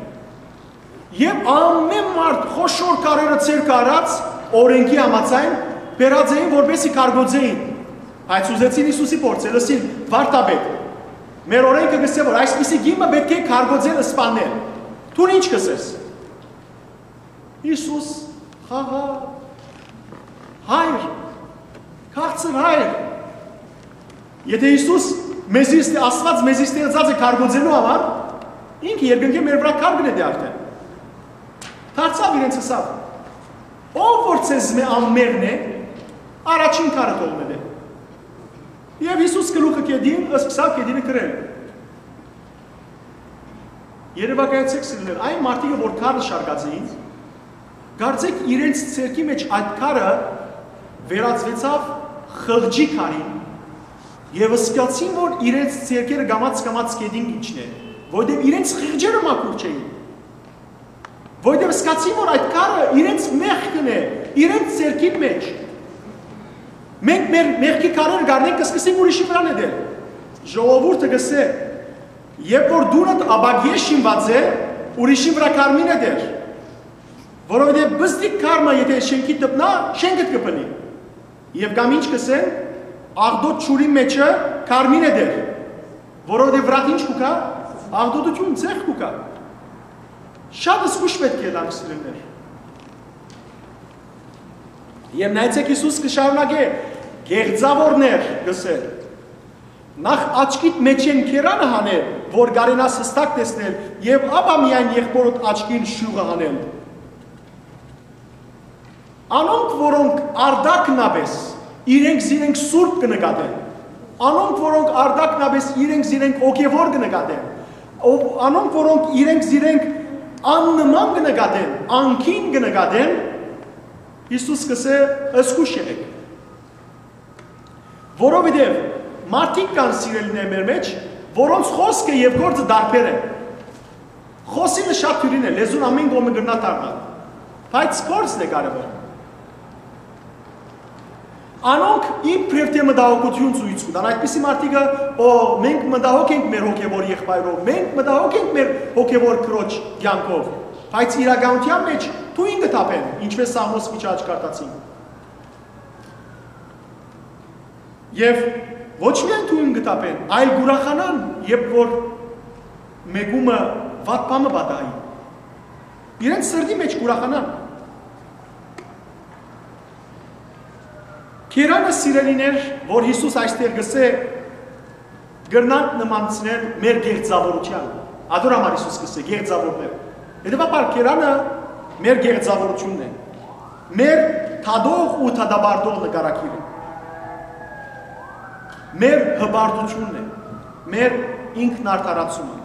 Եւ ամէն մարդ խոշոր քարերը ձեռքը առած, օրէնքի համաձայն, բերած էին, որպեսզի կարգոծէին։ Բայց ուզեցին Յիսուսի փորձել, ըսին. «Վարդապետ, մեր օրէնքը կ'ըսէ, որ այսպիսի կին մը պէտք է կարգոծել, սպանել։ Դուն ի՞նչ կ'ըսես»։ Յիսուս խաղա. «Հայր, քաղցր Հայր»։ Եթէ Յիսուս մեզի ստի, Աստուած մեզի ստեղծած է կարգոծելու համար, ինքը երկնքէ մեր վրայ քար կը նետէ արդէն։ Դարձաւ իրենց, ըսաւ. «Ով որ ձեզմէ անմեղն է, առաջին քարը թող նետէ»։ Եւ Յիսուս գլուխը գետին, սկսաւ գետինը կրել։ Երեւակայեցէք, սիրելիներ, այն մարդիկը, որ քարը շարկած էին, կարծէք իրենց ձեռքի մէջ այդ քարը վերածուեցաւ խղճի քարին, եւ զգացին, որ իրենց ձեռքերը կամաց-կամաց գետին կ'իջնեն, որտեղ իրենց խղճերը մաքուր չէին, որտեղ զգացին, որ այդ քարը իրենց մեղքն է, իրենց ձեռքին մէջ։ Մենք մեր մեղքի քարերը կ'առնենք, կ'սկսենք ուրիշի վրայ նետել։ Ժողովուրդը կ'ըսէ. «Երբ որ տունդ ապակիէ շինուած է, ուրիշին վրայ քար մի նետեր, որովհետեւ պզտիկ քար մը եթէ շէնքիդ դպնայ, շէնքդ կը փլի»։ Եւ կամ ինչ կ'ըսեն. «Աղտոտ ջուրին մէջը քար մի նետեր, որովհետեւ վրադ ինչ կու գայ, աղտոտութիւն, ցեխ կու գայ»։ Շատ զգոյշ պէտք է ըլլանք, սիրելիներ։ Եւ նայեցէք, Յիսուս կը շարունակէ. «Կեղծաւորներ», կ'ըսէ, «նախ աչքիդ մէջէն կերանը հանէ, որ կարենաս յստակ տեսնել, եւ ապա միայն եղբօրդ աչքին շիւղը հանել»։ Անոնք, որոնք արտակնապէս իրենք զիրենք սուրբ կը նկատեն, անոնք, որոնք արտակնապէս իրենք զիրենք հոգեւոր կը նկատեն, ով, անոնք, որոնք իրենք զիրենք աննման կը նկատեն, անկին կը նկատեն, Յիսուս կ'ըսէ. «Զգոյշ եղէք»։ Որովհետեւ մարդիկ կան, սիրելիներ, մեր մէջ, որոնց խօսքը եւ գործը տարբեր են։ Խօսինը շատ դիւրին է, լեզուն ամէն կողմը կրնայ դառնալ, բայց գործն է կարեւոր։ Անոնք իբրեւ թէ մտահոգութիւն ցոյց կու տան, այդպիսի մարդիկը, ո, մենք մտահոգ ենք մեր հոգեւոր եղբայրով, մենք մտահոգ ենք մեր հոգեւոր քրոջ կեանքով, բայց իրականութեան մէջ թոյն կը թափեն, ինչպէս Սաղմոս վիճը աջ կարդացինք։ Եւ ոչ միայն թոյն կը թափեն, այլ կ'ուրախանան, երբ որ մէկումը վատ բան մը պատահի։ Իրենց սրտի մէջ կ'ուրախանան։ Կերանը, սիրելիներ, որ Յիսուս այստեղ կ'ըսէ, կրնանք նմանցնել մեր կեղծաւորութեան։ Ատոր համար Յիսուս կ'ըսէ. «Կեղծաւորներ»։ Հետեւաբար, կերանը մեր կեղծաւորութիւնն է, մեր դատող ու դատապարտող նկարագիրը, մեր հպարտութիւնն է, մեր ինքնարդարացումը։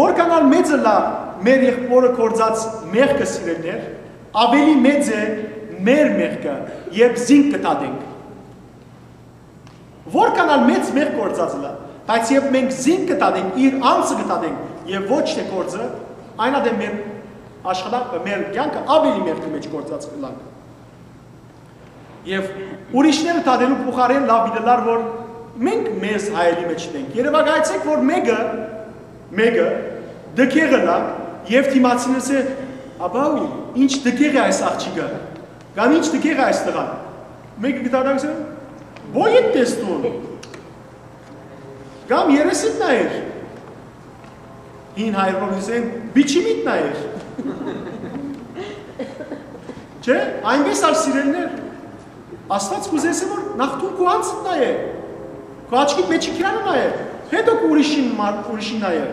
Որքան ալ մեծ ըլլայ մեր եղբօրը գործած մեղքը, սիրելիներ, աւելի մեծ է մեր մեղքը, երբ զինք կը դատենք։ Որքան ալ մեծ մեղք գործած ըլլայ, բայց երբ մենք զինք կը դատենք, իր անձը կը դատենք եւ ոչ թէ գործը, այն ատեն մեր աշխատանքը, մեր կեանքը աւելի մեղքի մէջ գործած կ'ըլլանք։ Եւ ուրիշները դատելու փոխարէն լաւ պիտի ըլլար, որ մենք մեզ հայելի մէջ դենք։ Երեւակայեցէք, որ մէկը, մէկը դքեղ ըլլայ եւ դիմացինը ըսէ. «Աբաու, ինչ դքեղ է այս աղջիկը, կամ ինչ դքեղ է այս տղան»։ Մէկը կը դատա, կ'ըսէ. «Բոյդ տես դուն, կամ երեսիդ նայեր»։ Հին հայերով կ'ըսեն. «Պիչիմիդ նայեր»։ Չէ՞, այնպէս ալ, սիրելիներ, Աստված կ'ուզէ որ նախ դուն քու անձդ նայէ, քու աչքիդ մէջի կերանը նայէ, հետո քու ուրիշին մար-, ուրիշին նայէ։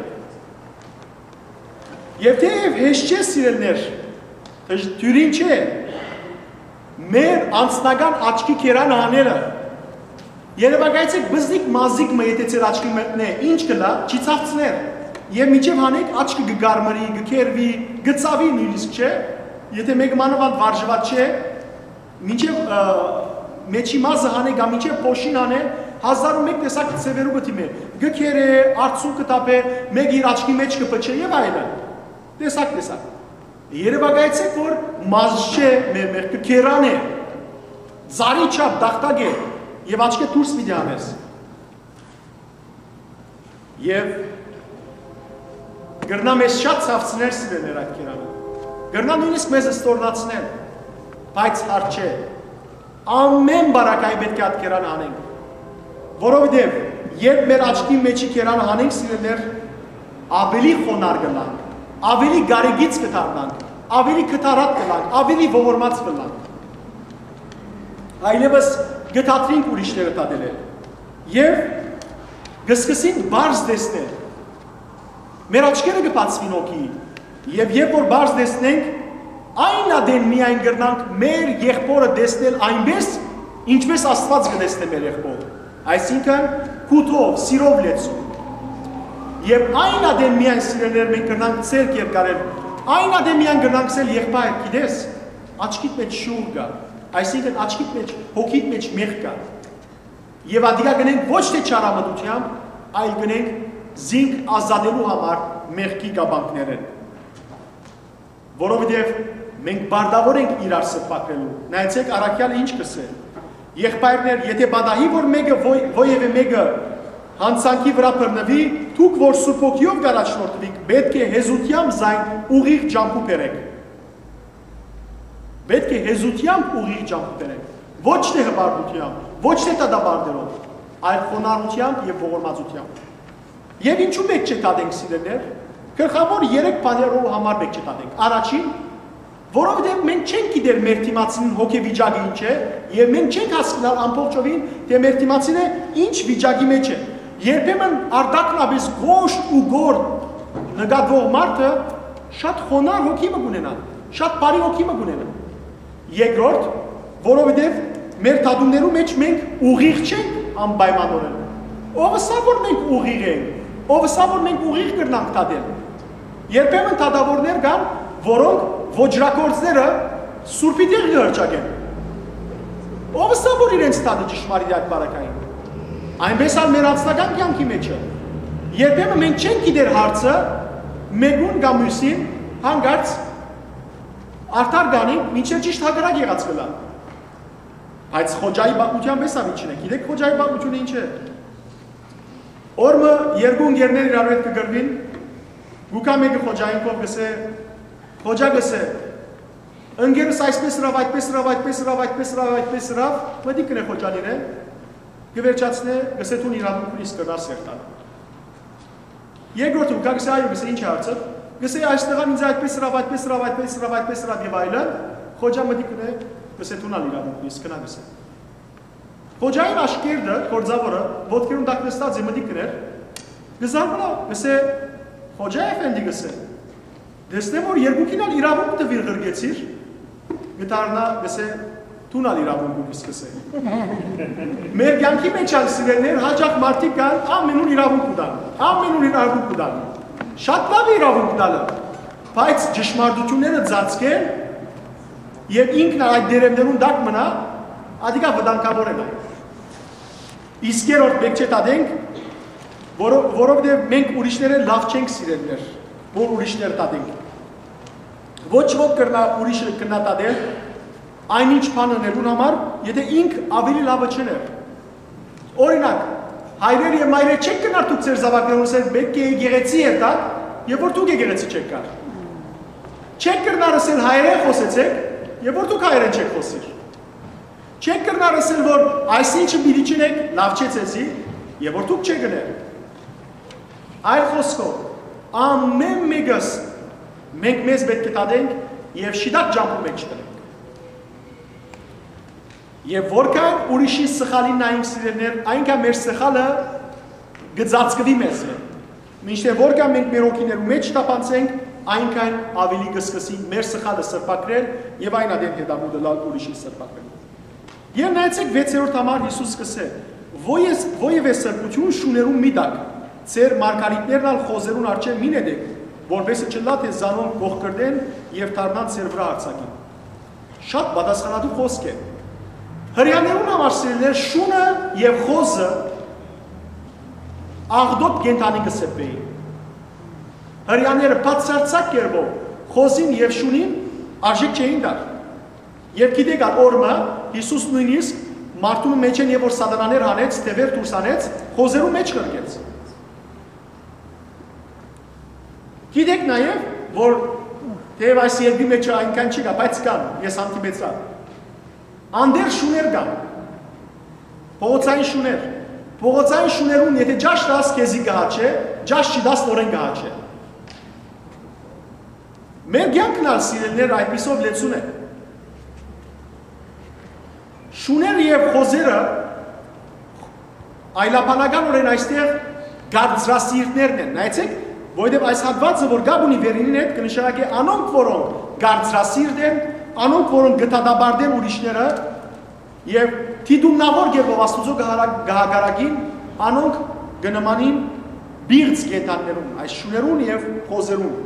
Եւ թէեւ հեշտ չէ, սիրելիներ, դժ-, դիւրին չէ մեր անձնական աչքի կերանը հանելը։ Երեւակայեցէք, բզնիկ մազիկ մը, եթե ձեր աչքի մտնէ, ինչ կ'ըլլայ, չի ցաւցներ։ Եւ մինչեւ հանէք, աչքը կը կարմրի, կը քերվի, կը ցաւի նոյնիսկ, չէ՞։ Եթե մէկը մանաւանդ վարժուած չէ, մինչեւ, ը, մէջի մազը հանէ կամ մինչեւ փոշին հանէ, հազար ու մէկ տեսակ ձեւերու կը դիմէ։ Կը քերէ, արցունք կը թափէ, մէկը իր աչքի մէջ կը փչէ եւ այլն։ Տեսակ-տեսակ։ Երեւակայեցէք որ մազը մէ-, մեղքը կերան է, ծառի չափ տախտակ է, եւ աչքէ դուրս պիտի անես։ Եւ կրնայ մեզ շատ ցաւցնել, սիրելիներ, այդ կերանը։ Կրնայ նոյնիսկ մեզ ստորնացնել, բայց հարց չէ։ Ամէն բարակայ պէտք է այդ կերանը հանենք, որովհետեւ երբ մեր աչքի մէջի կերանը հանենք, սիրելիներ, աւելի խոնարհ կ'ըլլանք, աւելի կարեկից կը դառնանք, աւելի քթառատ կ'ըլլանք, աւելի ողորմած կ'ըլլանք։ Այլեւս կը դադրինք ուրիշները դատելը եւ կը սկսենք բարձ տեսնել։ Մեր աչքերը կը բացուին հոգի, եւ երբ որ բարձ տեսնենք, այն ատեն միայն կրնանք մեր եղբորը տեսնել այնպես, ինչպես Աստված կը տեսնէ մեր եղբորը, այսինքն՝ կութով, սիրով լեցուն։ Եւ այն ատեն միայն, սիրելիներ, մենք կրնանք ձեռք երկարել, այն ատեն միայն կրնանք ասել. «Եղբայր, գիտես, աչքիդ մէջ շուղ կայ», այսինքն՝ աչքիդ մէջ, հոգիդ մէջ մեղք կայ։ Եւ ատիկա կ'ընենք ոչ թէ չարամտութեամբ, այլ կ'ընենք զինք ազատելու համար մեղքի կապանքներէն։ Որովհետեւ մենք պարտավոր ենք իրար սրբագրելու։ Նայեցէք, առաքեալը ինչ կ'ըսէ. «Եղբայրներ, եթե պատահի որ մէկը ոյ-, ոեւէ մէկը յանցանքի վրայ բռնուի, դուք որ Սուրբ Հոգիով կ'առաջնորդուիք, պէտք է հեզութեամբ զայն ուղիղ ճամբու բերէք»։ Պէտք է հեզութեամբ ուղիղ ճամբու բերենք, ոչ թէ հպարտութեամբ, ոչ թէ դատապարտելով, այլ խոնարհութեամբ եւ ողորմածութեամբ։ Եւ ինչու պէտք չէ դատենք, սիրելիներ։ Գլխաւոր երեք բաներու համար պէտք չէ դատենք։ Առաջին, որովհետեւ մենք չենք գիտեր մեր դիմացին հոգեվիճակը ինչ է, եւ մենք չենք հասկնար ամբողջովին, թէ մեր դիմացինը ինչ վիճակի մէջ է։ Երբեմն արտաքնապէս կոշտ ու գորտ նկատուող մարդը շատ խոնարհ հոգի մը կ'ունենայ, շատ բարի հոգի մը կ'ունենայ։ Երկրորդ, որովհետեւ մեր դատումներու մէջ մենք ուղիղ չենք անպայմանորեն։ Ո՞վ ըսաւ որ մենք ուղիղ ենք, ո՞վ ըսաւ որ մենք ուղիղ կրնանք դատել։ Երբեմն դատաւորներ կան, որոնք ոճրագործները սուրբի տեղ կը հրճակեն։ Ո՞վ ըսաւ որ իրենց դատը ճշմարիտ է այդ պարագային։ Այնպես ալ մեր անձնական կեանքի մէջը, երբեմն մենք չենք գիտեր հարցը մեկուն կամ միւսին, հանկարծ արդար կանենք, մինչեւ ճիշտ հակառակ եղած կ'ըլլայ։ Բայց Խոջայի պատմութեան պէս ալ ինչ է, գիտեք Խոջայի պատմութիւնը ինչ է։ Օր մը երկու ընկերներ իրարու հետ կը կռուին, գուկա մէկը Խոջային կողմ, կ'ըսէ, Խոջա, կ'ըսէ, ընկերս այսպես ըրաւ, այդպես ըրաւ, այդպես ըրաւ, այդպես ըրաւ, այդպես ըրաւ, մտիկ կ'ընէ Խոջան իրեն, կը վերջացնէ, կ'ըսէ, դուն իրավունք ունիս, կրնաս հերթալ։ Երկրորդը կա, կ'ըսէ, այո, կ'ըսէ, ինչ է հարցը, կ'ըսէ, այստեղ ալ ինձ այդպես ըրաւ, այդպես ըրաւ, այդպես ըրաւ, այդպես ըրաւ եւ այլն, Խոջա մտիկ կ'ընէ, կ'ըսէ, դուն ալ իրավունք ունիս, գնա, կ'ըսէ։ Խոջային աշկերտը, գործաւորը, ոտքերուն տակ նստած է, մտիկ կ'ընէր, կը զարմանայ, կ'ըսէ, Խոջա էֆենդի, կ'ըսէ, տեսնեմ որ երկուքին ալ իրաւունք տուիր, ղրկեցիր, կը դառնայ, կ'ըսէ, դուն ալ իրաւունք ունիս, կ'ըսէ։ Մեր կեանքի մէջ ալ, սիրելիներ, յաճախ մարդիկ կան, ամենուն իրաւունք կու տան, ամենուն իրաւունք կու տան։ Շատ լաւ է իրաւունք տալը, բայց ճշմարտութիւնները ծածկել եւ ինքն ալ այդ տերևներուն տակ մնայ, ատիկա վտանգաւոր է նայ։ Իսկ երրորդ, պէտք չէ դատենք, որո-, որովհետեւ մենք ուրիշներէն լաւ չենք, սիրելիներ, որ ուրիշներ դատենք։ Ոչ ոք կրնայ ուրիշը կրնայ դատել այնինչ բան ընելուն համար, եթե ինք աւելի լաւը չըներ։ Օրինակ, հայրեր եւ մայրեր, չէք կրնար դուք ձեր զաւակներուն ըսել, պէտք է եկեղեցի երթաք, եւ որ դուք եկեղեցի չէք գար։ Չեք կրնար ըսել, հայերէն խօսեցէք, եւ որ դուք հայերէն չէք խօսիր։ Չեք կրնար ըսել որ այսինչը պիտի չընեք, լաւ չէ ձեզի, եւ որ դուք չեք ըներ։ Այլ խօսքով, ամէն մէկս մենք մեզ պէտք է դատենք եւ շիտակ ճամբու մէջ դնենք։ Եւ որքան ուրիշին սխալին նայենք, սիրելիներ, այնքան մեր սխալը կը ծածկուի մեզմէ։ Մինչդեռ որքան մենք մեր հոգիներու մէջ թափանցենք, այնքան աւելի կը սկսի մեր սխալը սրբագրել եւ այն ատեն հետամուտ ըլլալ ուրիշին սրբագրել։ Եւ նայեցէք, վեցերորդ համար Յիսուս կ'ըսէ. «Ոյ ես, ոյ եւ ես սրբություն շուներուն մի տակ, ձեր մարգարիտներն ալ խոզերուն առջեւ մի նետէք, որպեսզի չըլլայ թէ զանոնք կոխկռտեն եւ դառնան ձեր վրայ յարձակին»։ Շատ պատասխանատու խօսք է։ Հրեաներուն համար, սիրելիներ, շունը եւ խոզը աղտոտ կենդանի կը սեպէին։ Հրեաները բացարձակ կերպով խոզին եւ շունին արժէք չէին տար։ Եւ գիտեք, ա, օրը մը Յիսուս նոյնիսկ մարդուն մէջէն, եւ որ սատանաներ հանեց, թեւեր դուրս հանեց, խոզերու մէջ ղրկեց։ Գիտեք նաեւ, որ թեեւ այս երկրի մէջ այնքան չկայ, բայց կան, ես հանդիպեցայ։ Անտեր շուներ կան, փողոցային շուներ։ Փողոցային շուներուն, եթե ճաշ տաս, քեզի կը հաչէ, ճաշ չտաս, նորեն կը հաչէ։ Մեր կեանքն ալ, սիրելիներ, այդպիսով լեցուն է։ Շուները եւ խոզերը այլաբանականօրէն այստեղ կարծրասիրտներն են։ Նայեցէք, որովհետեւ այս հատուածը, որ կապ ունի վերինին հետ, կը նշանակէ անոնք, որոնք կարծրասիրտ են, անոնք, որոնք կը դատապարտեն ուրիշները, եւ դիտումնաւոր կերպով Աստուծոյ կը հարա-, կը հակառակին, անոնք կը նմանին պիղծ կենդանիներուն, այս շուներուն եւ խոզերուն։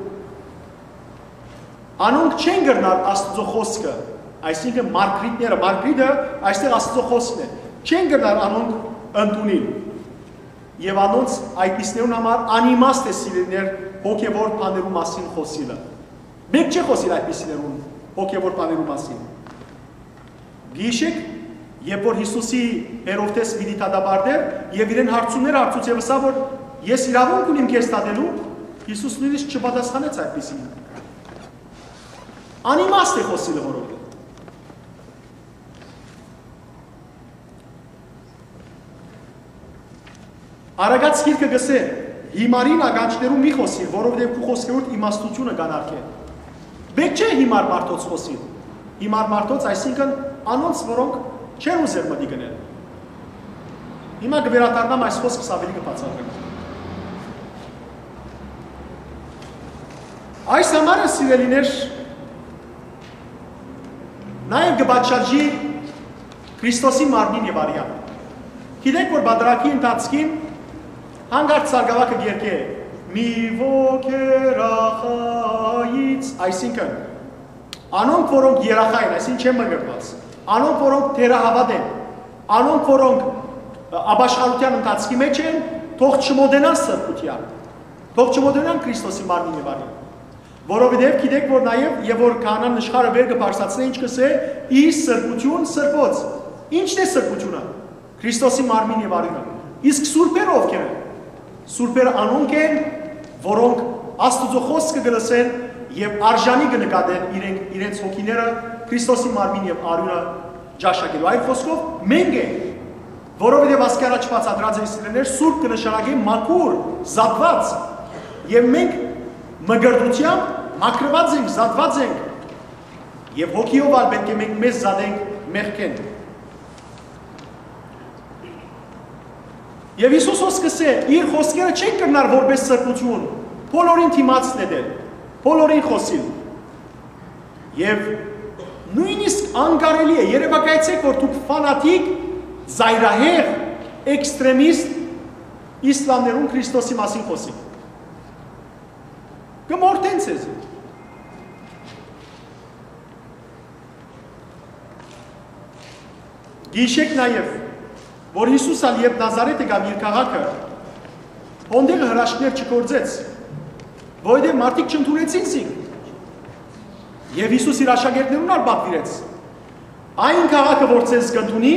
Անոնք չեն կրնար Աստուծոյ խօսքը, այսինքն՝ մարգրիտները, մարգրիտը այստեղ Աստուծոյ խօսքն է, չեն կրնար անոնք ընդունիլ։ Եւ անոնց, այդպիսներուն համար անիմաստ է, սիրելիներ, հոգեւոր բաներու մասին խօսիլը։ Մէկ չէ խօսիլ այդպիսիներուն հոգեւոր բաներու մասին։ Գիշեք, երբ որ Յիսուսի Հերովդէս պիտի դատապարտէր եւ իրեն հարցումներ հարցուց եւ ըսաւ, որ «Ես իրաւունք ունիմ քեզ դատելու», Յիսուս նոյնիսկ չպատասխանեց այդպիսին։ Անիմաստ է խօսիլը, որովհետեւ։ Արագած գիրքը կ'ըսէ. «Յիմարին ականջներու մի խօսիր, որովհետեւ քու խօսքերուդ իմաստութիւնը կ'անարգէ»։ Մէկ չէ յիմար մարդոց խօսիլ։ Յիմար մարդոց, այսինքն՝ անոնց, որոնք չեն ուզեր մտիկ ընել։ Հիմա կը վերադառնամ այս խօսքս, աւելի կը բացատրեմ։ Այս համար է, սիրելիներ, նաեւ կը պատշաճի Քրիստոսի մարմնին եւ արեան։ Գիտեք, որ պատարագի ընթացքին հանկարծ սարկաւակը կ'երգէ. «Մի ոգ երախայից», այսինքն՝ անոնք, որոնք երախայ են, այսինքն՝ չեն մկրտուած, անոնք, որոնք թերահաւատ են, անոնք, որոնք, ը, ապաշխարութեան ընթացքի մէջ են, թող չմոտենան սրբութեան, թող չմոտենան Քրիստոսի մարմնին եւ արեան։ Որովհետեւ գիտեք, որ նաեւ, եւ որ քահանան նշխարը վեր կը բարձրացնէ, ինչ կ'ըսէ. «Ի սրբութիւն սրբոց»։ Ի՞նչն է սրբութիւնը։ Քրիստոսի մարմին եւ արիւնը։ Իսկ սուրբերը ովքեր են։ Սուրբերը անոնք են, որոնք Աստուծոյ խօսքը կը լսեն եւ արժանի կը նկատեն իրենք, իրենց հոգիները Քրիստոսի մարմին եւ արիւնը ճաշակելու։ Այլ խօսքով, մենք ենք, որովհետեւ ասկի առաջ բացատրած էի, սիրելիներ, սուրբ կը նշանակի մաքուր, զատուած, եւ մենք մկրտությամբ մաքրուած ենք, զատուած ենք, եւ հոգիով ալ պէտք է մենք մեզ զատենք մեղքէն։ Եւ Յիսուս, որ սկսէ իր խօսքերը, չեն կրնար որպես սրբութիւն բոլորին դիմաց նետել, բոլորին խօսիլ։ Եւ նոյնիսկ անկարելի է, երեւակայեցէք, որ դուք ֆանատիկ, զայրահեղ, էքստրեմիստ իսլամներուն Քրիստոսի մասին խօսիք։ Կը մորթեն ձեզի։ Գիշեք նաեւ, որ Յիսուս ալ երբ Նազարեթ եկաւ իր քաղաքը, հոնդեղը հրաշքներ չգործեց, որովհետեւ մարդիկ չընդունեցին զինք։ Եվ Յիսուս իր աշակերտներուն ալ պատվիրեց. «Այն քաղաքը, որ ձեզ կընդունի,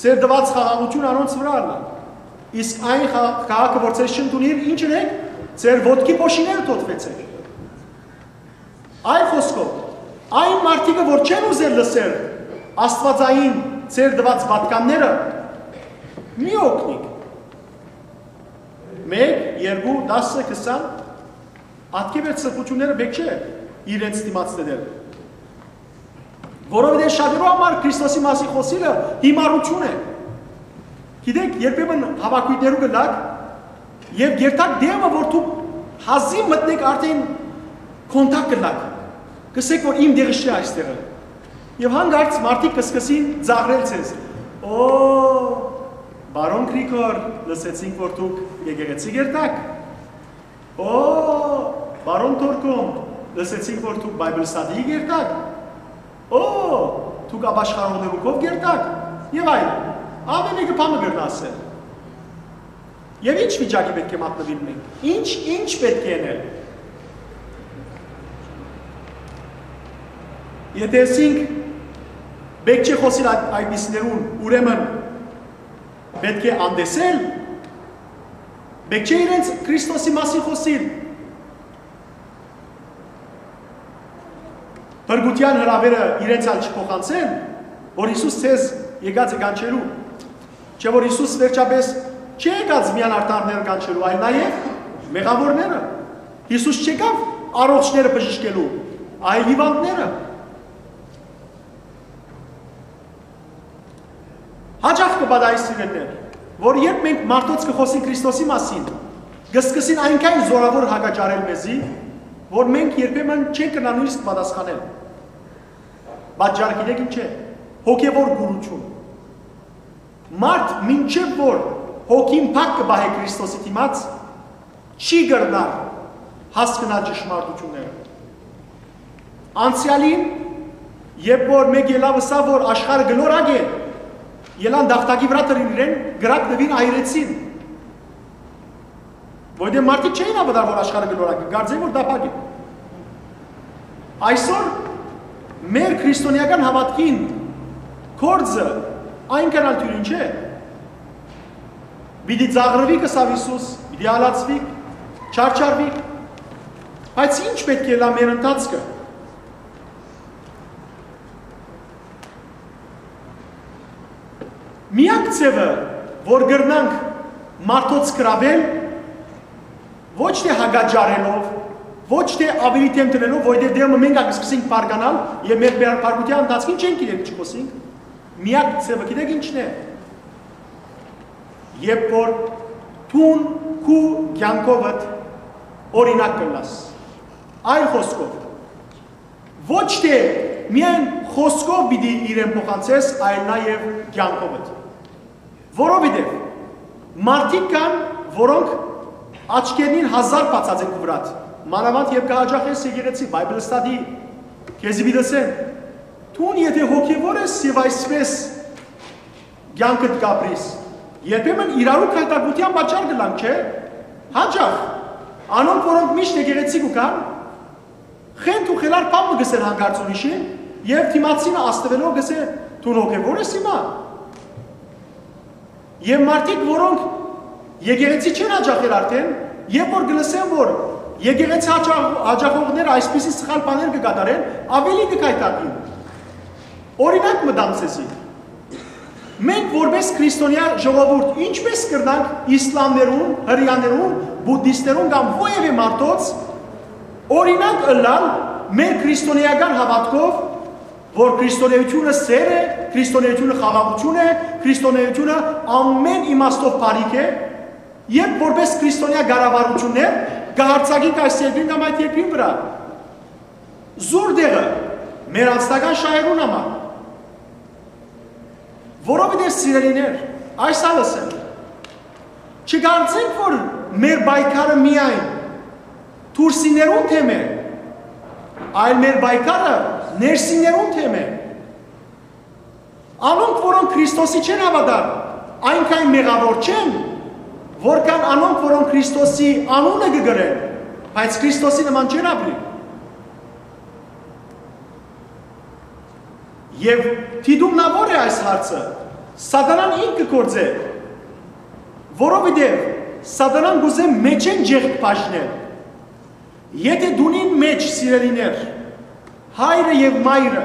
ձեր տված խաղաղությունը անոնց վրայ ըլլայ։ Իսկ այն խա-, քաղաքը, որ ձեզ չընդունիր, ի՞նչ ըլեք, ձեր ոտքի փոշիները թոթուեցէք»։ Այլ խոսքով, այն մարդիկը, որ չեն ուզեր լսել աստվածային ձեր տված պատգամները, մի օգնիք։ Մէկ, երկու, տասը, քսան, ատկեւեր սրբությունները պէտք չէ իրենց դիմաց նետել։ Որովհետեւ շատերու համար Քրիստոսի մասին խօսիլը հիմարութիւն է։ Գիտեք, երբեմն հաւաքոյթներու կ'ըլլաք եւ կ'երթաք դէմը, որ դուք հազիւ մտնէք, արդէն contact կ'ըլլաք, կ'ըսէք, որ իմ տեղը չէ այստեղը։ Եւ հանկարծ մարդիկ կը սկսին ծաղրել ձեզ. «Օ, պարոն Գրիգոր, լսեցինք, որ դուք եկեղեցի կ'երթաք։ Օ, պարոն Թորքոն, լսեցինք, որ դուք Bible study կ'երթաք։ Օ, դուք ապաշխարողներու քով կ'երթաք», եւ այլն։ Ամէն մէկը բան մը կրնայ ասել։ Եւ ի՞նչ վիճակի պէտք է մատնուիլ մենք։ Ի՞նչ, ի՞նչ պէտք է ընել։ Եթե ասինք, պէտք չէ խօսիլ այդ, այդպիսիներուն, ուրեմն պէտք է անտեսել, պէտք չէ իրենց Քրիստոսի մասին խօսիլ։ Փրկութեան հրաւէրը իրենց ալ չփոխանցեն, որ Յիսուս ձեզ եկած է կանչելու։ Չէ՞ որ Յիսուս վերջապէս չի եկած միայն արդարները կանչելու, այլ նաեւ մեղաւորները։ Յիսուս չեկաւ առողջները բժշկելու, այլ հիւանդները։ Յաճախ կը պատահի, սիրելիներ, որ երբ մենք մարդոց կը խօսենք Քրիստոսի մասին, կը սկսին այնքան զօրաւոր հակաճառել մեզի, որ մենք երբեմն չենք կրնար նոյնիսկ պատասխանել։ Պատճառը գիտեք ի՞նչ է։ Հոգեվոր կուրութիւն։ Մարդ մինչեւ որ հոգին փակ կը պահէ Քրիստոսի դիմաց, չի կրնար հասկնալ ճշմարտութիւնները։ Անցեալին, երբ որ մէկ ելաւ ըսաւ, որ աշխարհը գլորակ է, ելան դաղթակի վրայ դրին իրեն, կրակ տուին, այրեցին։ Որտեղ մարդիկ չէին հաւատար, որ աշխարհը գլորակ է, կարծեն, որ տափակ է։ Այսօր մեր քրիստոնեական հաւատքին գործը այնքան ալ դիւրին չէ։ Պիտի ծաղրուի, կ'ըսաւ Յիսուս, պիտի ալացուի, չարչարուի։ Բայց ի՞նչ պէտք է ըլլայ մեր ընթացքը։ Միակ ձեւը, որ կրնանք մարդոց գրաւել, ոչ թէ հակաճառելով, ոչ թէ ավելի դէմ դնելով, որտեղ դէմը մենք ալ կը սկսենք բարկանալ եւ մեր բարբարքութեան ընթացքին չենք գիտեր ինչ կ'ասենք, միակ ձեւը գիտեք ի՞նչն է։ Երբ որ դուն քու կեանքովդ օրինակ կ'ըլլաս, այլ խօսքով, ոչ թէ միայն խօսքով պիտի իրեն փոխանցես, այլ նաեւ կեանքովդ։ Որովհետեւ մարդիկ կան, որոնք աչքերնին հազար բացած են քու վրադ, մանաւանդ երբ կը հաճախես եկեղեցի, Bible study, քեզի պիտի ըսեն. «Դուն եթե հոգեվոր ես եւ այսպէս կեանքդ կ'ապրիս», երբեմն իրարու գայթակղութեան պատճառ կ'ըլլանք, չէ՞։ Յաճախ, անոնք, որոնք միշտ եկեղեցի կու գան, խենթ ու խելար բան մը կ'ըսեն հանկարծ ուրիշին, եւ դիմացինը, աստուելով, կ'ըսէ. «Դուն հոգեվոր ես հիմա»։ Եւ մարդիկ, որոնք եկեղեցի չեն յաճախեր արդեն, երբ որ կը լսեն, որ եկեղեցի յաճախ-, յաճախողները այսպիսի սխալ բաներ կը կատարեն, ավելի կը գայթակղին։ Օրինակ մը տամ ձեզի։ Մենք որպես քրիստոնեայ ժողովուրդ ինչպէս կրնանք իսլամներուն, հրեաներուն, բուդդիստներուն կամ որեւէ մարդոց օրինակ ըլլալ մեր քրիստոնեական հաւատքով, որ քրիստոնեությունը սեր է, քրիստոնեությունը խաղաղութիւն է, քրիստոնեությունը ամէն իմաստով բարիք է, երբ որպես քրիստոնեայ կառավարութիւններ կը յարձակենք այս երկրին կամ այդ երկրին վրայ։ Զուր տեղը մեր անձնական շահերուն համար։ Որովհետեւ, սիրելիներ, այս ալ ըսեմ, չկարծենք, որ մեր պայքարը միայն դուրսիներուն թեմ է, այլ մեր պայքարը ներսիներուն թեմ է։ Անոնք, որոնք Քրիստոսի չեն հաւատար, այնքան մեղաւոր չեն, որքան անոնք, որոնք Քրիստոսի անունը կը կրեն, բայց Քրիստոսի նման չեն ապրի։ Եւ դիտումնաւոր է այս հարցը։ Սատանան ինքը կը գործէ, որովհետեւ Սատանան կ'ուզէ մէջէն ջեղք բաժնել։ Եթե տունին մէջ, սիրելիներ, հայրը եւ մայրը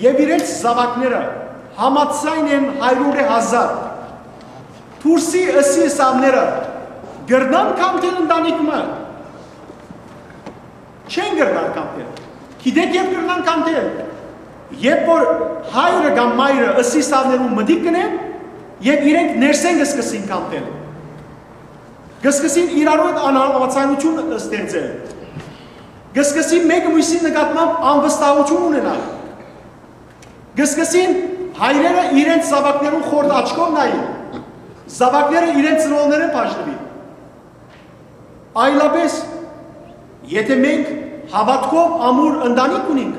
եւ իրենց զաւակները համաձայն են հարիւրէ հազար, դուրսի ըսի ըսաւները կրնան քանդել ընտանիք մը, չեն կրնար քանդել։ Գիտեք, երբ կրնան քանդել, Երբ որ հայրը կամ մայրը ըսի սա մտիկ կ'ընեն, եւ իրենք ներսէն կը սկսին քանդել։ Կը սկսին իրարու հետ անհամաձայնութիւն ստեղծել։ Կը սկսին մէկը մյուսին նկատմամբ անվստահութիւն ունենալ։ Կը սկսին հայրերը իրենց զաւակներուն խորթ աչքով նայել, զաւակները իրենց ծնողներէն բաժնուին։ Այլապէս, եթէ մենք հաւատքով ամուր ընտանիք ունինք,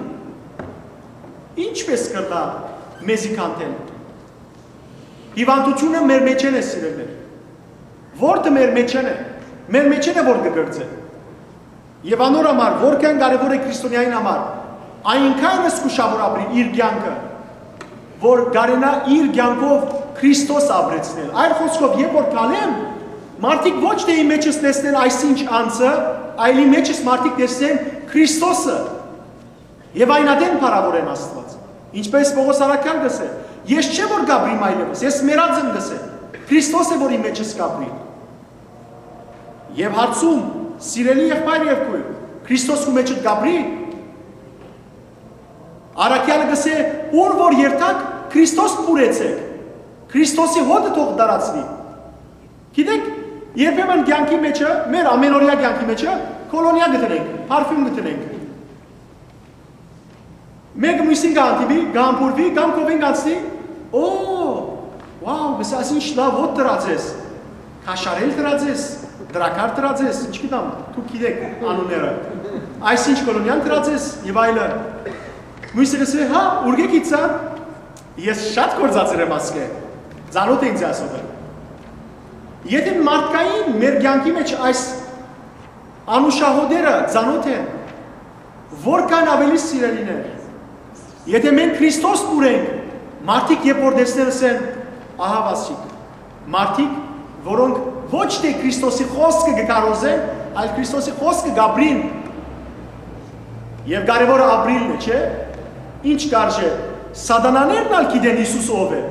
ի՞նչպէս կրնայ մեզի քանդել։ Հիւանդութիւնը մեր մէջէն է, սիրելիներ։ Որդը մեր մէջէն է, մեր մէջէն է որ կը կրծէ։ Եւ անոր համար, որքան կարեւոր է քրիստոնեային համար, այնքան զգուշաւոր ապրի իր կեանքը, որ կարենայ իր կեանքով Քրիստոս ապրեցնել։ Այլ խօսքով, երբ որ քալեմ, մարդիկ ոչ թէ իմ մէջս տեսնեն այսինչ անձը, այլ իմ մէջս մարդիկ տեսնեն Քրիստոսը։ Եւ այն ատեն փառաւորեն Աստուած։ Ինչպէս Պողոս առաքյալ կ'ըսէ. «Ես չէ որ կ'ապրիմ այլեւս, ես մեռած եմ», կ'ըսէ։ Քրիստոս է որ իմ մէջս կ'ապրի։ Եւ հարցում, սիրելի եղբայր եւ քոյր, Քրիստոս քու մէջդ կ'ապրի։ Առաքյալը կ'ըսէ. «Ուր որ երթաք, Քրիստոս փուռեցէք, Քրիստոսի հոտը թող տարածուի»։ Գիտեք, երբեմն կեանքի մեջը, մեր ամենօրյա կեանքի մեջը, քոլոնիա կը դնենք, փարֆիւմ կը դնենք։ Մէկը մյուսին կը հանդիպի, կը համբուրուի, կամ քովէն կ'անցնի. «Օ, wow, մսաս ինչ լաւ հոտ դրած ես, քաշարել դրած ես, դրակար դրած ես, ինչ գիտեմ, դուք գիտեք անունները, այսինչ քոլոնիան դրած ես» եւ այլը։ Մյուսը կ'ըսէ. «Հա, ուրկէ գիցա, ես շատ գործածեր եմ ասկէ, ծանոթ է ինձ ասողը»։ Եթէ մարդկային մեր կեանքի մեջ այս անուշահոտերը ծանոթ են, որքան աւելի, սիրելիներ, եթէ մենք Քրիստոս փուռենք, մարդիկ երբ որ տեսնեն, ըսեն. «Ահա վասիկ»։ Մարդիկ, որոնք ոչ թէ Քրիստոսի խօսքը կը քարոզեն, այլ Քրիստոսի խօսքը կ'ապրին։ Եւ կարեւորը ապրիլն է, չէ՞։ Ինչ կարժէ, սատանաներն ալ գիտեն Յիսուս ով է։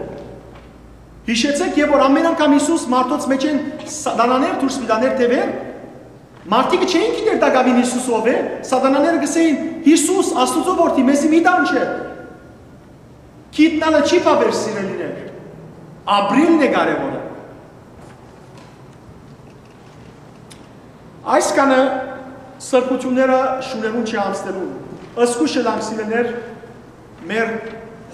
Յիշեցէք, երբ որ ամեն անգամ Յիսուս մարդոց մէջէն սատանաներ դուրս մտան թեւեր, մարդիկը չէին գիտեր տակաւին Յիսուս ով է, սատանաները կ'ըսէին. «Յիսուս, Աստուծոյ որդի, մեզի մի տանջէ»։ Գիտնալը չի բաւեր, սիրելիներ, ապրիլն է կարեւորը։ Այսքանը սրբութիւնները շուներուն չի անցնելու, զգուշ ըլանք, սիրելիներ, մեր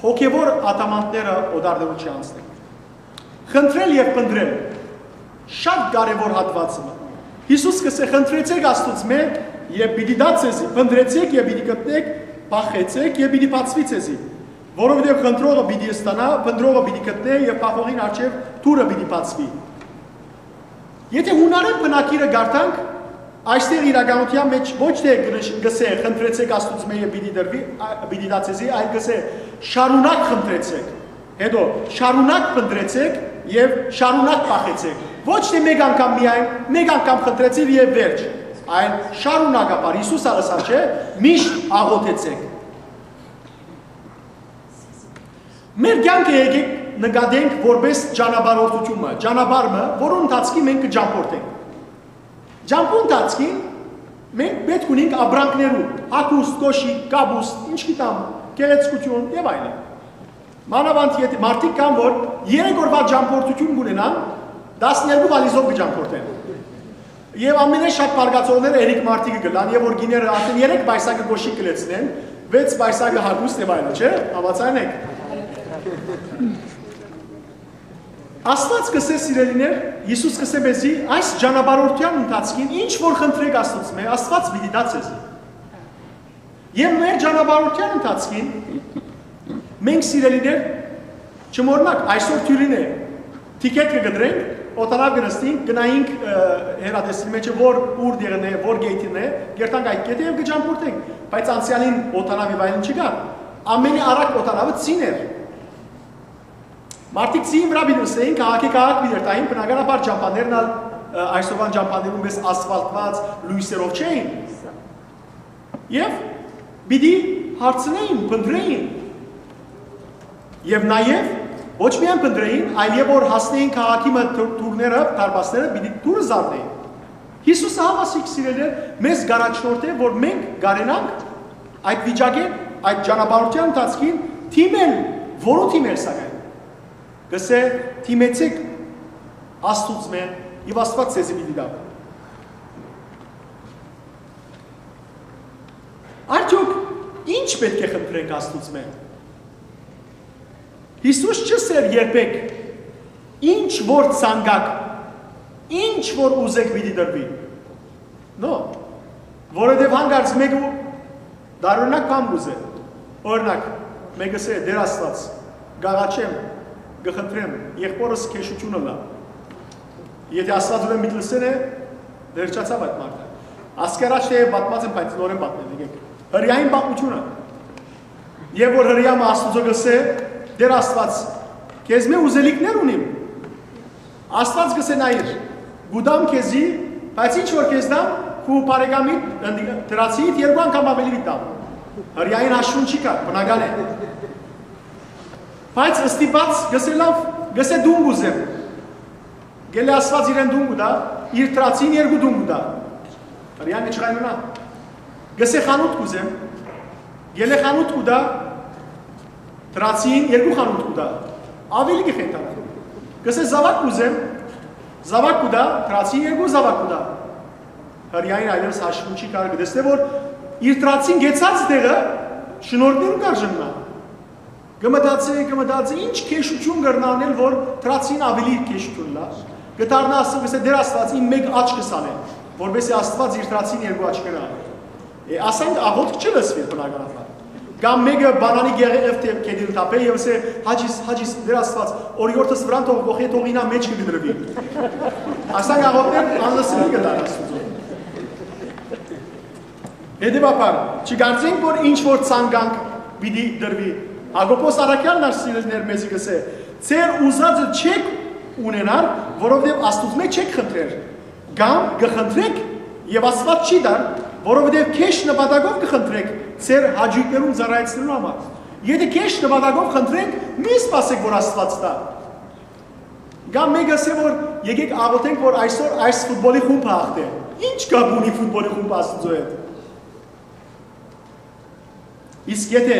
հոգեւոր ադամանդները օտարներուն չի անցնելու։ Խնդրել եւ փնտռել շատ կարեւոր հատուածը։ Յիսուս կ'ըսէ. «Խնդրեցէք Աստուծմէ եւ պիտի տայ ձեզի, փնտռեցէք եւ պիտի գտնէք, փախեցէք եւ պիտի բացուի ձեզի, որովհետեւ խնդրողը պիտի ստանայ, փնտռողը պիտի գտնէ եւ փախողին առջեւ դուռը պիտի բացուի»։ Եթէ յունարէն բնագիրը կարդանք, այստեղ իրականութեան մեջ ոչ թէ կ'ըս-, կ'ըսէ. «Խնդրեցէք Աստուծմէ եւ պիտի տրուի, ա, պիտի տայ ձեզի», այլ կ'ըսէ. «Շարունակ խնդրեցէք, հետո շարունակ փնտռեցէք եւ շարունակ փախեցէք»։ Ոչ թէ մեկ անգամ միայն, մեկ անգամ խնդրեցիր եւ վերջ, այլ շարունակաբար, Յիսուս ալ ըսած չէ, միշտ աղօթեցէք։ Մեր կեանքը եկեք նկատենք որպես ճանապարհորդութիւն մը, ճանապարհ մը, որուն ընթացքի մենք կը ճամփորդենք։ Ճամփու ընթացքին մենք պէտք ունենք ապրանքներու, հագուստ, կոշիկ, կապուստ, ինչ գիտեմ, գեղեցկութիւն եւ այլն։ Մանաւանդ եթէ մարդիկ կան, որ երեք օրվա ճամփորդութիւն կունենան, տասներկու վալիզով կը ճամփորդեն։ Եւ ամենէն շատ բարկացողները երեք մարդիկը կ'ըլլան, եւ որ գիները արդեն երեք պայսակը կոշիկ կը լեցնեն, վեց պայսակը հագուստ եւ այլն, չէ՞, համաձայն եք։ Աստուած կ'ըսէ, սիրելիներ, Յիսուս կ'ըսէ մեզի, այս ճանապարհորդութեան ընթացքին ինչ որ խնդրեք Աստուծմէ, Աստուած պիտի տայ ձեզի։ Եւ մեր ճանապարհորդութեան ընթացքին մենք, սիրելիներ, չմոռնաք, այսօր դիւրին է, թիքեթ կը կտրենք, օտանաւ կը նստենք, գնայինք, ը, հեռատեսին մեջը, որ ուր դերն է, որ գեյթին է, կերտանք այդ գետը եւ կը ճամփորդենք, բայց անցեալին օտանաւ եւ այլն չկա, ամենի արագ օտանավը ծին էր։ Մարդիկ ծին վրայ պիտի նստեին, քաղաքի քաղաք պիտի երթային, բնականաբար ճամփաներն ալ, ը, այսօրվան ճամփաներուն պես ասֆալտված լոյսերով չէին։ Եւ պիտի հարցնեին, փնտռէին։ Եւ նաեւ ոչ միայն փնտռէին, այլ երբ որ հասնեին քաղաքի մը դուռները, դարպասները, պիտի դուռը զարնէին։ Յիսուսը, հաւասիկ, սիրելիներ, մեզ կ'առաջնորդէ, որ մենք կարենանք այդ վիճակէն Այդ ճանապարհութեան ընթացքին դիմել, որո՞ւ դիմել, սակայն։ Կ'ըսէ. «Դիմեցէք Աստուծմէ, եւ Աստուած ձեզի պիտի տայ»։ Արդեօք ի՞նչ պէտք է խնդրենք Աստուծմէ։ Յիսուս չ'ըսէր երբեք. «Ինչ որ ցանկաք, ինչ որ ուզէք, պիտի տրուի»։ No, որովհետեւ հանկարծ մէկը տարօրինակ բան կ'ուզէ։ Օրինակ, մէկը ըսէ. «Տէր Աստուած, կ'աղաչեմ, կը խնդրեմ, եղբօրս քեշութիւն ըլլայ»։ Եթէ Աստուած ուրեմն միտք ըսել է, վերջացաւ այդ մարդը։ Ասկի առաջ թէ պատմած եմ, բայց նորէն պատմեմ, եկէք։ Հրեային պատմութիւնը։ Եւ որ Հրեայ մը Աստուծոյ կ'ըսէ. «Տէր Աստուած, քեզմէ ուզելիքներ ունիմ»։ Աստուած կ'ըսէ. «Նայիր, կու տամ քեզի, բայց ինչ որ քեզ տամ, քու բարեկամիդ, դրացիիդ երկու անգամ աւելի պիտի տամ»։ Հրեային հաշուն չի գար, բնական է։ Բայց ստիպած կ'ըսէ. «Լաւ, կ'ըսէ, տուն կ'ուզեմ»։ Գելէ Աստուած իրեն տուն կու տայ, իր դրացին երկու տուն կու տայ։ Հրեայ մը չխայնանայ։ Կ'ըսէ. «Խանութ կ'ուզեմ»։ Գելէ խանութ կու տայ, դրացին երկու խանութ կու տայ։ Աւելի կը խենթանայ։ Կ'ըսէ. «Զաւակ կ'ուզեմ»։ Զաւակ կու տայ, դրացին երկու զաւակ կու տայ։ Հրեային այլեւս հաշուն չի գար, կը տեսնէ, որ իր դրացին գեցած տեղը շնորհքներուն կ'արժանայ։ Կը մտածէ, կը մտածէ, ինչ քեշութիւն կրնայ անել, որ դրացին աւելի քեշութիւն ըլլայ։ Կը դառնայ, ասում, կ'ըսէ. «Տէր Աստուած, իմ մէկ աչքս ալ է, որպէս զի Աստուած իր դրացին երկու աչքերը անի»։ Է, ասանկ աղօթք չի լսուի բնականաբար։ Կամ մէկը բանանի գեղեև թէ գետին թափէ եւ ըսէ. «Հաճիս, հաճիս, Տէր Աստուած, օրիորդս վրան թող կոխէ, թող ինա մէջքը կը դրուի»։ Ասանկ աղօթքներ անլսելի կը տան Աստուծոյ։ Հետեւաբար, չկարծենք, որ ինչ որ ցանկանք, պիտի տրուի։ Յակոբոս առաքեալն ալ, սիրելիներ, մեզի կ'ըսէ. «Ձեր ուզածը չէք ունենար, որովհետեւ Աստուծմէ չէք խնդրեր, կամ կը խնդրեք, եւ Աստուած չի տար, որովհետեւ քեշ նպատակով կը խնդրեք ձեր հաճոյքներուն ծառայեցնելու համար»։ Եթէ քեշ նպատակով խնդրենք, մի սպասեք, որ Աստուած տայ։ Կամ մէկը ըսէ, որ եկեք աղոթենք, որ այսօր այս ֆուտբոլի խումբը հաղթէ։ Ի՞նչ կապ ունի ֆուտբոլի խումբը Աստուծոյ հետ։ Իսկ եթէ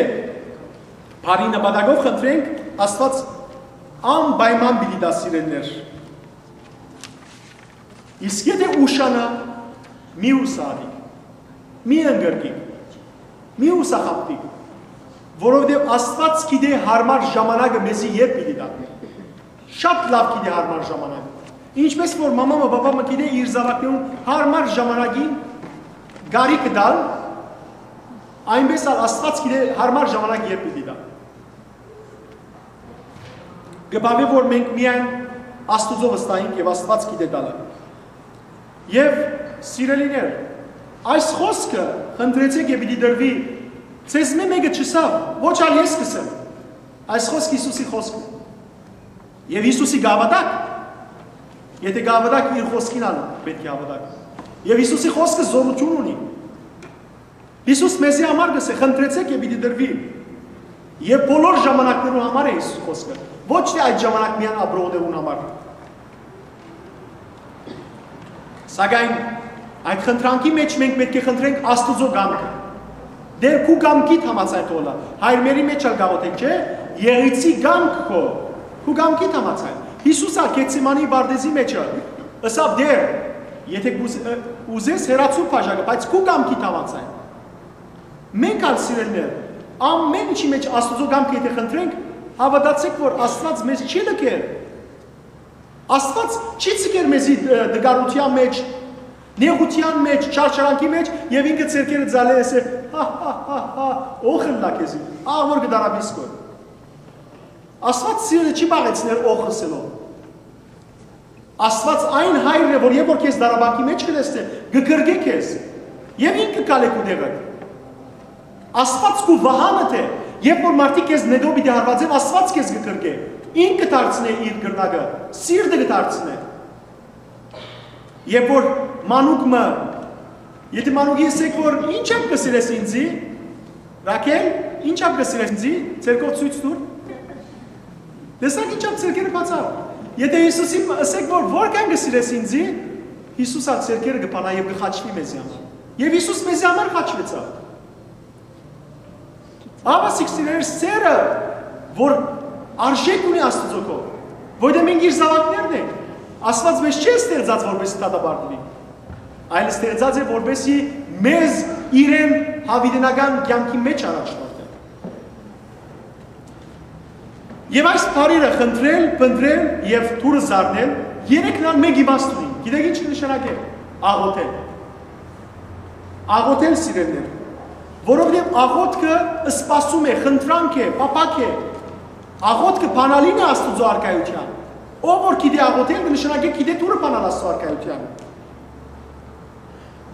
բարի նպատակով խնդրենք, Աստուած անպայման պիտի տայ, սիրելիներ։ Իսկ եթէ ուշանայ, մի յուսահատիք, մի ընկրկիք, մի յուսախաբդիք, որովհետեւ Աստուած գիտէ յարմար ժամանակը մեզի երբ պիտի տայ։ Շատ լաւ գիտէ յարմար ժամանակը։ Ինչպէս որ մամա մը, պապա մը գիտէ իր զաւակներուն յարմար ժամանակին կարիքը տալ, այնպէս ալ Աստուած գիտէ յարմար ժամանակ երբ պիտի տայ։ Կը բաւէ, որ մենք միայն Աստուծոյ վստահենք եւ Աստուած գիտէ տալը։ Եւ, սիրելիներ, այս խօսքը, «Խնդրեցէք եւ պիտի տրուի», ձեզմէ մէկը չըսաւ, ոչ ալ ես կ'ըսեմ։ Այս խօսքը Յիսուսի խօսքը։ Եւ Յիսուսի կը հաւատաք, եթէ կը հաւատաք, իր խօսքին ալ պէտք է հաւատաք։ Եւ Յիսուսի խօսքը զօրութիւն ունի։ Յիսուս մեզի համար կ'ըսէ. «Խնդրեցէք եւ պիտի տրուի»։ Եւ բոլոր ժամանակներուն համար է Յիսուս խօսքը, ոչ թէ այդ ժամանակ միայն ապրողներուն համար։ Սակայն այդ խնդրանքի մեջ մենք պէտք է խնդրենք Աստուծոյ կամքը։ «Տէր, քու կամքիդ համաձայն թող ըլլայ»։ Հայր մերի մեջ ալ կ'աղոթենք, չէ՞։ «Եղիցի կամք քո, քու կամքիդ համաձայն»։ Յիսուս ալ Գեթսեմանի պարտէզի մեջ ըսաւ. «Տէր, եթէ կ'ուզ-, ը, ուզես, հեռացու բաժակը, բայց քու կամքիդ համաձայն»։ Մենք ալ, սիրելիներ, ամէն ինչի մեջ Աստուծոյ կամքը եթէ խնդրենք, հաւատացէք, որ Աստուած մեզ չի լքեր։ Աստուած չի ձգեր մեզի, ը, տկարութեան մեջ, նեղութեան մեջ, չարչարանքի մեջ, եւ ինքը ձեռքերը ձալէ, ըսէ. «Հա, հա, հա, հա, ոխ ըլլայ քեզի, ահ որ կը դարապիս քո»։ Աստուած սիրտը չի պաղեցներ ոխ ըսելով։ Աստուած այն հայրն է, որ երբ որ քեզ դարապանքի մեջ կը տեսնէ, կը կրկէ քեզ, եւ ինքը կ'ալէ քու տեղը։ Աստուած քու վահանը թէ, երբ որ մարդիկ քեզ նետով պիտի հարվածեն, Աստուած քեզ կը կրկէ։ Ինքը դարձնէ իր կրնակը, սիրտը կը դարձնէ։ Երբ որ մանուկ մը, եթէ մանուկի ըսեք, որ ինչա՞բ կը սիրես ինձի, Ռաքել, ինչա՞բ կը սիրես ինձի, ձերքով ցոյց տուր։ Տեսա՞ք, ինչա՞բ ձերքերը բացաւ։ Եթէ Յիսուսին ըսեք, որ որքան կը սիրես ինձի, Յիսուս ալ ձերքերը կը բանայ եւ կը խաչվի մեզի համար։ Եւ Յիսուս մեզի համար խաչուեցաւ։ Ահա սիրելիներ, սերը, որ արժէք ունի Աստուծոյ կողմէ, որտեղ մենք իր զաւակներն ենք, Աստուած մեզ չի ստեղծած, որպեսզի դատապարտուի, այլ ստեղծած է, որպեսզի մեզ իրեն յաւիտենական կեանքի մէջ առաջնորդէ։ Եւ այս բառերը՝ խնդրել, փնտռել եւ դուռը զարնել, երեքն ալ մէկ իմաստ ունին։ Գիտեք ի՞նչ կը նշանակէ աղօթել։ Աղօթել, սիրելիներ, որովհետեւ աղօթքը սպասում է, խնդրանք է, փափաք է։ Աղօթքը բանալին է Աստուծոյ առկայութեան։ Ով որ գիտէ աղօթել, կը նշանակէ գիտէ դուռը բանալ Աստուծոյ առկայութեան։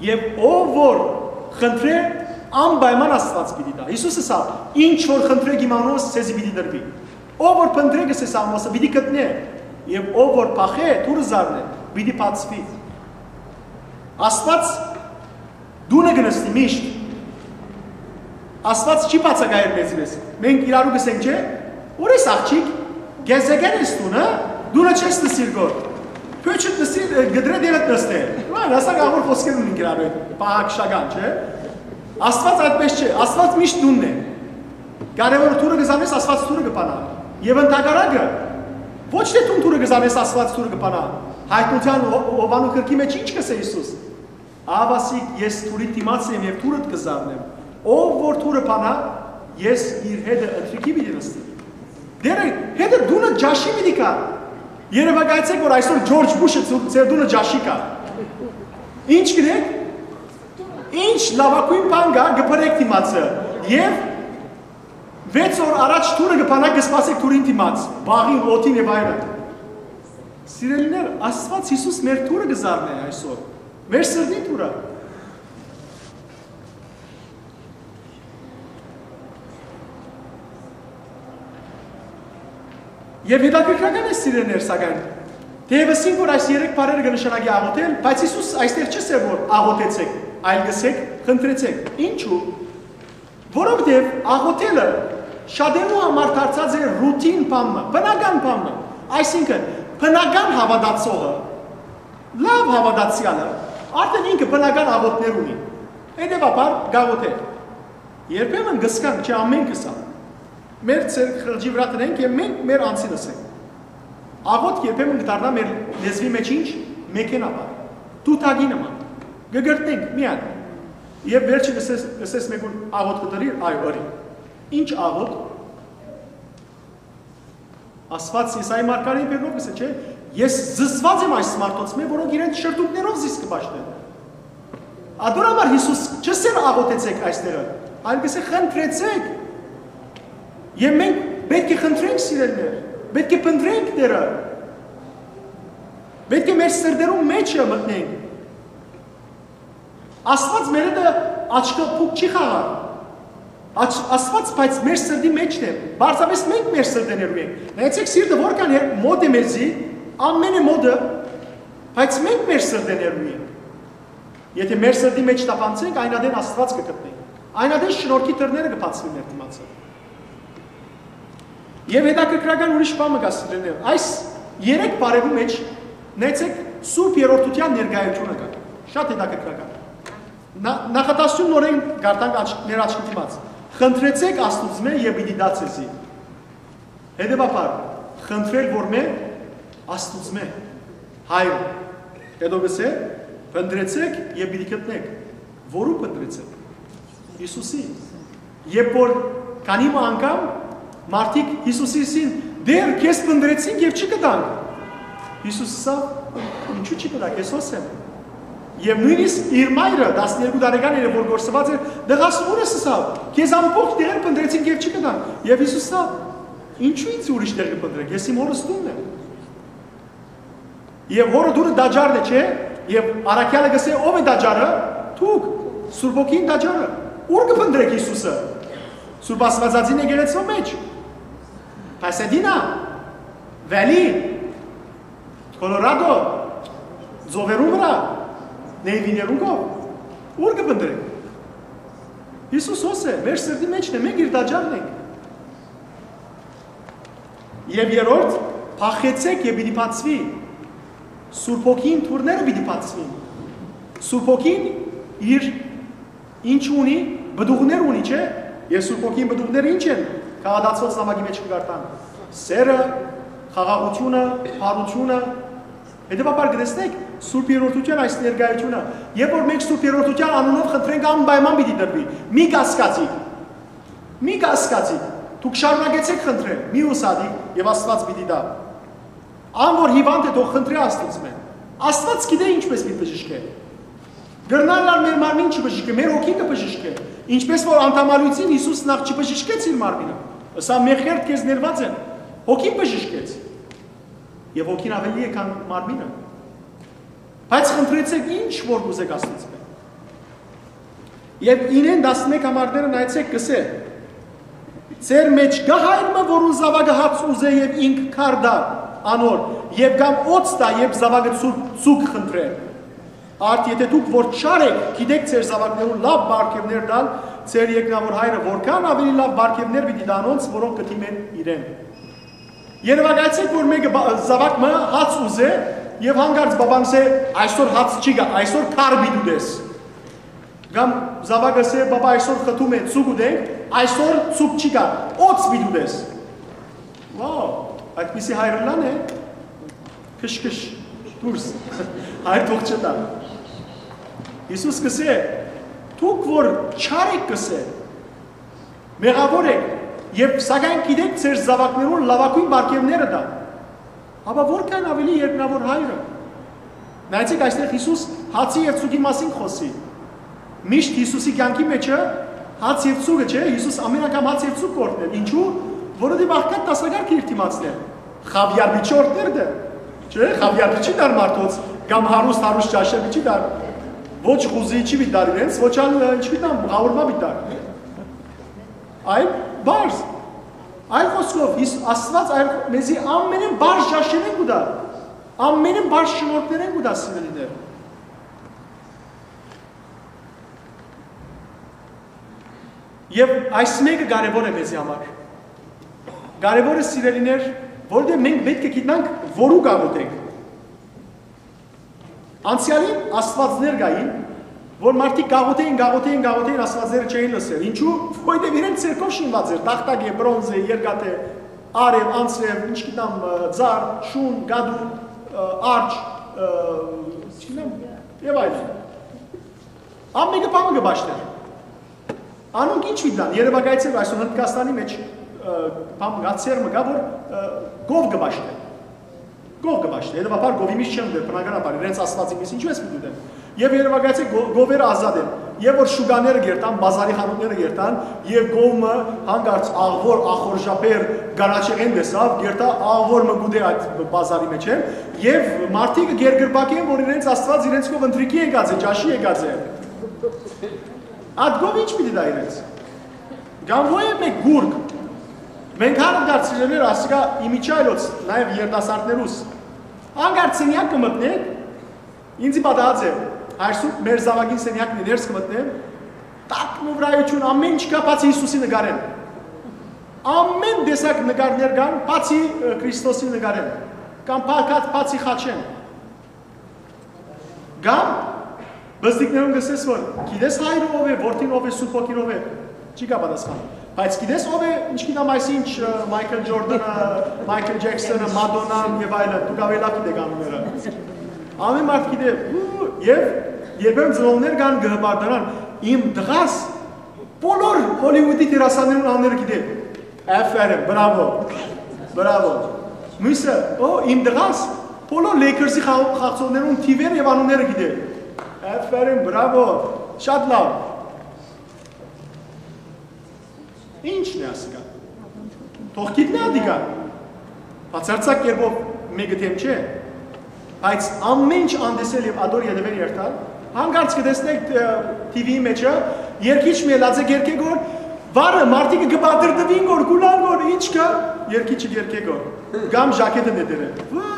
Եւ ով որ խնդրէ, անպայման Աստուած պիտի տայ։ Յիսուս ըսաւ. «Ինչ որ խնդրէք իմ անունով, ձեզի պիտի տրուի»։ Ով որ փնտռէ, կ'ըսէ Սաղմոսը, պիտի գտնէ, եւ ով որ փախէ, դուռը զարնէ, պիտի բացուի։ Աստուած տունը կը նստի միշտ։ Աստուած չի բացակայեր մեզի պես։ Մենք իրարու կ'ըսենք, չէ՞, ո՞ր ես, աղջիկ, գեզեգեր ես տուն, հա, տունը չես նստիր գոր, փոյթդ նստի, կտրե դերդ նստե։ Այլ ասակ աղոր խոսքեր ունին իրարու հետ, պահակշական, չէ՞։ Աստուած այդպես չէ, Աստուած միշտ տունն է։ Կարեւոր դուռը կը զանես, Աստուած դուռը կը բանայ։ Եւ ընդհակառակը, ոչ թէ դուն դուռը կը զանես, Աստուած դուռը կը բանայ։ Յայտնութեան Յովհաննու գրքի մէջ ի՞նչ կ'ըսէ Յիսուս։ Ահա ասիկ, ես դուռին դիմաց եմ եւ դուռդ կը զարնեմ։ Ով որ դուռը բանայ, ես իր հետը ընթրիքի պիտի նստեմ։ Դերը հետը տունը ճաշի պիտի գայ։ Երեւակայեցէք, որ այսօր Ջորջ Բուշը ձու-, ձեր տունը ճաշի գայ։ Ի՞նչ կ'ընէք։ Ի՞նչ լաւագոյն բան կայ, կը փրեք դիմացը, եւ վեց օր առաջ դուռը կը բանայ, կը սպասէք դուռին դիմաց, բաղին, օդին եւ այլն։ Սիրելիներ, Աստուած Յիսուս մեր դուռը կը զարնէ այսօր, մեր սրտին դուռը։ Եւ հետաքրքրական է, սիրելիներ, սակայն, թէեւ ըսինք, որ այս երեք բառերը կը նշանակի աղօթել, բայց Յիսուս այստեղ չ'ըսէ, որ աղօթեցէք, այլ կ'ըսէք, խնդրեցէք։ Ինչու՞։ Որովհետեւ աղօթելը շատերու համար դարձած է ռութին բան մը, բնական բան մը, այսինքն, բնական հաւատացողը, լաւ հաւատացեալը, արդեն ինքը բնական աղօթքներ ունի, հետեւաբար կ'աղօթէ։ Երբեմն կ'ըսենք, չէ, ամենքս ալ, մեր ձեռք խղճի վրայ դնենք եւ մենք մեր անձին ըսենք։ Աղօթք երբեմն կը դառնայ մեր լեզուի մէջ ինչ, մեքենայաբար, դուդակի նման, կը կրթենք միայն։ Եւ վերջը կ'ըսես, կ'ըսես մեկուն. «Աղօթքը ըրի՞ր»։ Այո, ըրի։ Ի՞նչ աղօթք։ Աստուած Եսայի մարգարէին բերնով կ'ըսէ, չէ՞, ես զզված եմ այս մարդոց մէ, որոնք իրենց շրթունքներով զիս կը պաշտեն։ Ատոր համար Յիսուս չ'ըսէր աղօթեցէք այստեղը, այլ կ'ըսէ խնդրեցէք։ Եւ մենք պէտք է խնդրենք, սիրելիներ, պէտք է փնտռենք Տէրը, պէտք է մեր սրտերուն մէջը մտնենք։ Աստուած մեր հետ աչքը փուք չի խաղար։ Աչ-, Աստուած, բայց մեր սրտի մէջն է։ Պարզապէս մենք մեր սրտեներու ենք։ Նայեցեք, սիրտը որքան հեռ-, մոտ է մեզի, ամենը մոտը, բայց մենք մեր սրտեներու ենք։ Եթէ մեր սրտի մէջ թափանցենք, այն ատեն Աստուած կը գտնենք։ Այն ատեն շնորհքի դռները կը բացուին մեր դիմացը։ Եւ հետաքրքրական ուրիշ բան մը կա, սիրելիներ։ Այս երեք բառերու մէջ, նայեցեք, Սուրբ Երրորդութեան ներկայությունը կայ։ Շատ հետաքրքրական։ Նա-, նախադասութիւնը նորէն կարդանք աչ-, մեր աչքի դիմաց։ «Խնդրեցէք Աստուծմէ եւ պիտի տայ ձեզի»։ Հետեւաբար, խնդրել որմէ, Աստուծմէ, Հայրը։ Հետո կ'ըսէ. «Փնտռեցէք եւ պիտի գտնէք»։ Որո՞ւ փնտռեցէք։ Յիսուսի։ Երբ որ քանի մը անգամ մարդիկ Յիսուսին ըսին. «Տէր, քեզ փնտռեցինք եւ չգտանք»։ Յիսուս ըսաւ. «Ինչու՞ չգտաք, ես հոս եմ»։ Եւ նոյնիսկ իր մայրը, տասներկու տարեկան էր, որ կորսուած էր, «Տղաս, ո՞ւր ես», ըսաւ. «Քեզ ամբողջ տեղեր փնտռեցինք եւ չգտանք»։ Եւ Յիսուս ըսաւ. «Ինչու՞ ինձ ուրիշ տեղ կը փնտռեք, ես իմ հօրս տունն եմ»։ Եւ հօրը տունը տաճարն է, չէ՞։ Եւ առաքեալը կ'ըսէ. «Ո՞վ է տաճարը»։ «Դուք, Սուրբ Հոգին տաճարը»։ Ո՞ւր կը փնտռեք Յիսուսը։ Սուրբ Աստուածածին եկեղեցւոյ մէջ։ Փասադինա, Վելի, Կոլորադո, ծովերուն վրայ, Նեյվիներուն կողմ։ Ո՞ւր կը փնտռեք։ Յիսուս հոս է, մեր սրտի մէջն է, մենք իր տաճարն ենք։ Եւ երրորդ, փախեցէք եւ պիտի բացուի։ Սուրբ Հոգին դուռները պիտի բացուին։ Սուրբ Հոգին իր ինչ ունի, պտուղներ ունի, չէ՞։ Եւ Սուրբ Հոգին պտուղները ի՞նչ են, քաղատացուած նամակի մեջ կը կարդան. սերը, խաղաղութիւնը, բարութիւնը։ Հետեւաբար կը տեսնենք Սուրբ Երրորդութեան այս ներկայութիւնը, երբ որ մենք Սուրբ Երրորդութեան անունով խնդրենք, անպայման պիտի տրուի։ Մի կասկածի, մի կասկածի, դուք շարունակեցէք խնդրել, մի ուսատի, եւ Աստուած պիտի տայ։ Ան որ հիւանդ է, թող խնդրէ Աստուծմէ։ Աստուած գիտէ ինչպէս պիտի բժշկէ։ Կրնար ալ մեր մարմին չբժշկէ, մեր հոգին կը բժշկէ։ Ինչպէս որ անդամալոյցին Յիսուս նախ չբժշկեց իր մարմինը, ըսաւ. «Մեղքերդ քեզ ներուած են»։ Հոգին բժշկեց։ Եւ հոգին աւելի է, քան մարմինը։ Բայց խնդրեցէք ինչ որ կ'ուզէք Աստուծմէ։ Եւ ինեն տասնմէկ համարները նայեցէք, կ'ըսէ. «Ձեր մէջ կա հայր մը, որուն զաւակը հաց ուզէ եւ ինք քար տայ անոր, եւ կամ օծ տայ, երբ զաւակը ծուգ, ծուգ խնդրէ։ Արդ, եթէ դուք որ չար էք, գիտէք ձեր զաւակներուն լաւ պարգեւներ տալ, ձեր երկնաւոր հայրը որքան աւելի լաւ պարգեւներ պիտի տայ անոնց, որոնք կը դիմեն իրեն»։ Երեւակայեցէք, որ մէկը բա-, զաւակ մը հաց ուզէ եւ հանկարծ բաբան ըսէ. «Այսօր հաց չի գայ, այսօր քար պիտի ուտես»։ Կամ զաւակը ըսէ. «Բաբա, այսօր խտում է, ծուգ ուտենք, այսօր ծուգ չի գայ, օծ պիտի ուտես»։ Վաու, այդպիսի հայրըլլան է, քշ-քշ, դուրս, հայր թող չտայ։ Յիսուս կ'ըսէ. «Դուք որ չար էք», կ'ըսէ, «մեղաւոր էք, եւ սակայն գիտէք ձեր զաւակներուն լաւագոյն պարգեւները տալ, ապա որքան աւելի երկնաւոր հայրը»։ Նայեցեք, այստեղ Յիսուս հացի եւ ծուգի մասին կ'խօսի։ Միշտ Յիսուսի կեանքի մէջը հաց եւ ծուգը չէ, Յիսուս ամեն անգամ հաց եւ ծուգ կ'օրհնէր։ Ինչու՞, որովհետեւ աղքատ դասակարգը իր դիմացն էր։ Խաւիար պիտի օրհնէր դեռ, չէ՞, խաւիար պիտի տար մարդոց, կամ հարուստ, հարուստ ճաշը պիտի տար։ Ոչ խուզի չի պիտի տար իրենց, ոչ ալ, ինչ պիտի տամ, ղաուրմա պիտի տար։ Այլ պարզ։ Այլ խօսքով, Յիս-, Աստուած այլ խո-, մեզի ամենէն պարզ ճաշերէն կու տայ, ամենէն պարզ շնորհքներէն կու տայ, սիրելիներ։ Եւ այս մէկը կարեւոր է մեզի համար։ Կարեւոր է, սիրելիներ, որովհետեւ մենք պէտք է գիտնանք, որու կաղոթենք։ Անցեալին աստուածներ կային, որ մարդիկ կաղոթէին, կաղոթէին, կաղոթէին, աստուածները չէին լսեր։ Ինչու՞, որովհետեւ իրենց ձեռքով շինուած էր, տախտակ է, բրոնզ է, երկաթ է, արեւ, անձրեւ, ինչ գիտեմ, ը, ձար, շուն, գադու, ը, արջ, ը, չգիտեմ, եւ այլն։ Ամէնքը բանը կը պաշտէր։ Անոնք ինչ պիտի տան, երեւակայեցէ, որ այսօր Հնդկաստանի մէջ, ը, բան, գացեր մը կայ, որ, ը, գով կը պաշտէ։ Գով կը պաշտէ։ Հետեւաբար գովի միշտ չեն ուտեր, բնականաբար, իրենց աստուածի միս ինչու ես պիտի ուտեն։ Եւ երեւակայեցէ գո-, գովերը ազատ են։ Եւ որ շուկաները գերտան, բազարի խանութները գերտան, եւ գովը հանկարծ աղվոր, ախորժապեր, գարաչեղեն տեսաւ, գերտա աղվոր մը գուտե այդ բազարի մեջ են, եւ մարդիկը գերգրբակեն, որ իրենց աստուած իրենց կով ընթրիքի եկած է, ճաշի եկած է։ Այդ գով ինչ պիտի տայ իրենց։ Կամ ո՞յ է մէկ գուրգ։ Մենք հանը դարձրել էր, ասիկա իմիջայլոց, նաեւ երիտասարդներուս։ Անկարծ սենեակ կը մտնեք, ինձի պատահած է, այսու մեր զաւակին սենեակն է, ներս կը մտնեմ, տակն ու վրայություն, ամեն ինչ կայ, բացի Յիսուսի նկարէն։ Ամեն տեսակ նկարներ կան, բացի, ը, Քրիստոսի նկարէն, կամ փակած, բացի խաչէն։ Կամ բզդիկներուն կ'ըսես, որ գիտես հայրը ով է, որդին ով է, Սուրբ Հոգին ով է, չի կա պատասխան։ Բայց գիտես ով է, ինչ գիտեմ, այսինչ, ը, Մայքլ Ջորդանը, Մայքլ Ջեքսոնը, Մադոննան եւ այլն, դուք ավելի լավ գիտեք անունները։ Ամեն մարդ գիտէ, ու, եւ երբեմն ծնողներ կան կը հպարտանան, իմ տղաս բոլոր Հոլիվուդի դերասաններուն անունները գիտէ։ Աֆերին, բրավո, բրավո։ Մյուսը, օ, իմ տղաս բոլոր Lakers-ի խաղ-, խաղացողներուն թիվերը եւ անունները գիտէ։ Աֆերին, բրավո, շատ լավ։ Ի՞նչն է ասիկա։ Թող գիտնայ ատիկա։ Բացարձակ կերպով մէկը դէմ չէ, բայց ամեն ինչ անտեսել եւ ատոր ետեւէն երթալ, հանկարծ կը տեսնեք, ը, թի վի-ի մեջը, երկիչ մը ելած է գերկեգոր, վարը մարդիկը կը պատրտվին գոր, կուլան գոր, ինչ կայ, երկիչը գերկեգոր, կամ ժակետը նետեր է։ Վա!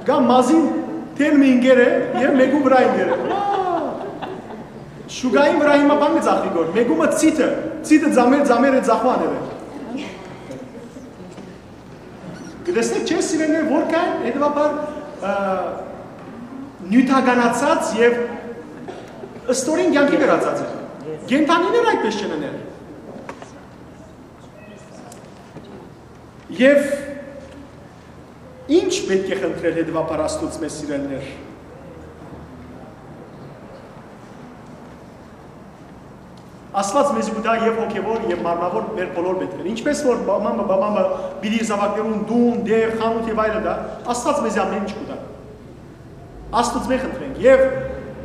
Կամ մազին թեն մը ինկեր է եւ մէկու վրայ ինկեր է։ Վա! Շուկային վրայ հիմա բան կը ձախվի գոր, մէկու մը ցիթը, ցիթը ձամեր, ձամեր է ձախուան է։ Կը տեսնեք, չէ՞, սիրելիներ, որքան հետեւաբար, ը, նիւթականացած եւ ստորին կեանքի գրածած է։ Կենդանիներ այդպես չեն ըներ։ Եւ ի՞նչ պէտք է խնդրել հետեւաբար Աստուծմէ, սիրելիներ։ Աստուած մեզի կու տայ եւ հոգեւոր, եւ մարմնաւոր մեր բոլոր պէտքերը։ Ինչպէս որ մամը, բաբամը պիտի զաւակներուն տուն, տեղ, խանութ եւ այլը տայ, Աստուած մեզի ամէն ինչ կու տայ։ Աստուծմէ խնդրենք։ Եւ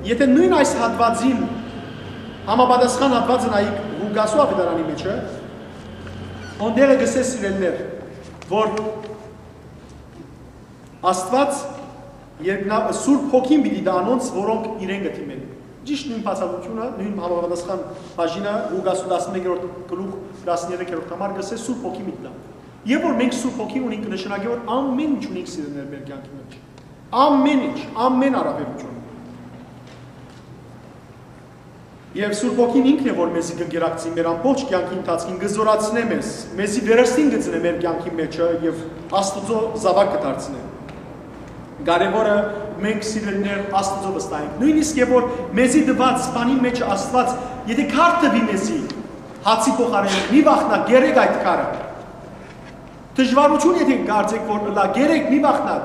եթէ նոյն այս հատուածին համապատասխան հատուածը նայիք Ղուկասու աւետարանի մէջը, հոն տեղը կ'ըսէ, սիրելիներ, որ Աստուած երկնա-, Սուրբ Հոգին պիտի տայ անոնց, որոնք իրեն կը դիմեն։ Ճիշդ նոյն բացատրութիւնը, նոյն համապատասխան բաժինը Ղուկասու տասնմէկերորդ գլուխ, տասներկերորդ համար կ'ըսէ, Սուրբ Հոգին պիտի տայ։ Եւ որ մենք Սուրբ Հոգին ունենք, կը նշանակէ, որ ամէն ինչ ունենք, սիրելիներ, մեր կեանքի մէջ։ Ամէն ինչ, ամէն առաւելութիւն։ Եւ Սուրբ Հոգին ինքն է, որ մեզի կ'ընկերակցի մեր ամբողջ կեանքի ընթացքին, կը զօրացնէ մեզ, մեզի վերստին կը ծնէ մեր կեանքի մէջը եւ Աստուծոյ զաւակ կը դարձնէ։ Կարեւորը մենք, սիրելիներ, Աստուծոյ վստահենք։ Նոյնիսկ եւ որ մեզի տուած բանի մէջը Աստուած, եթէ քար տուի մեզի, հացի փոխարէն, մի վախնաք, կերեք այդ քարը։ Դժուարութիւն եթէ կարծէք որ ըլլայ, կերեք, մի վախնաք,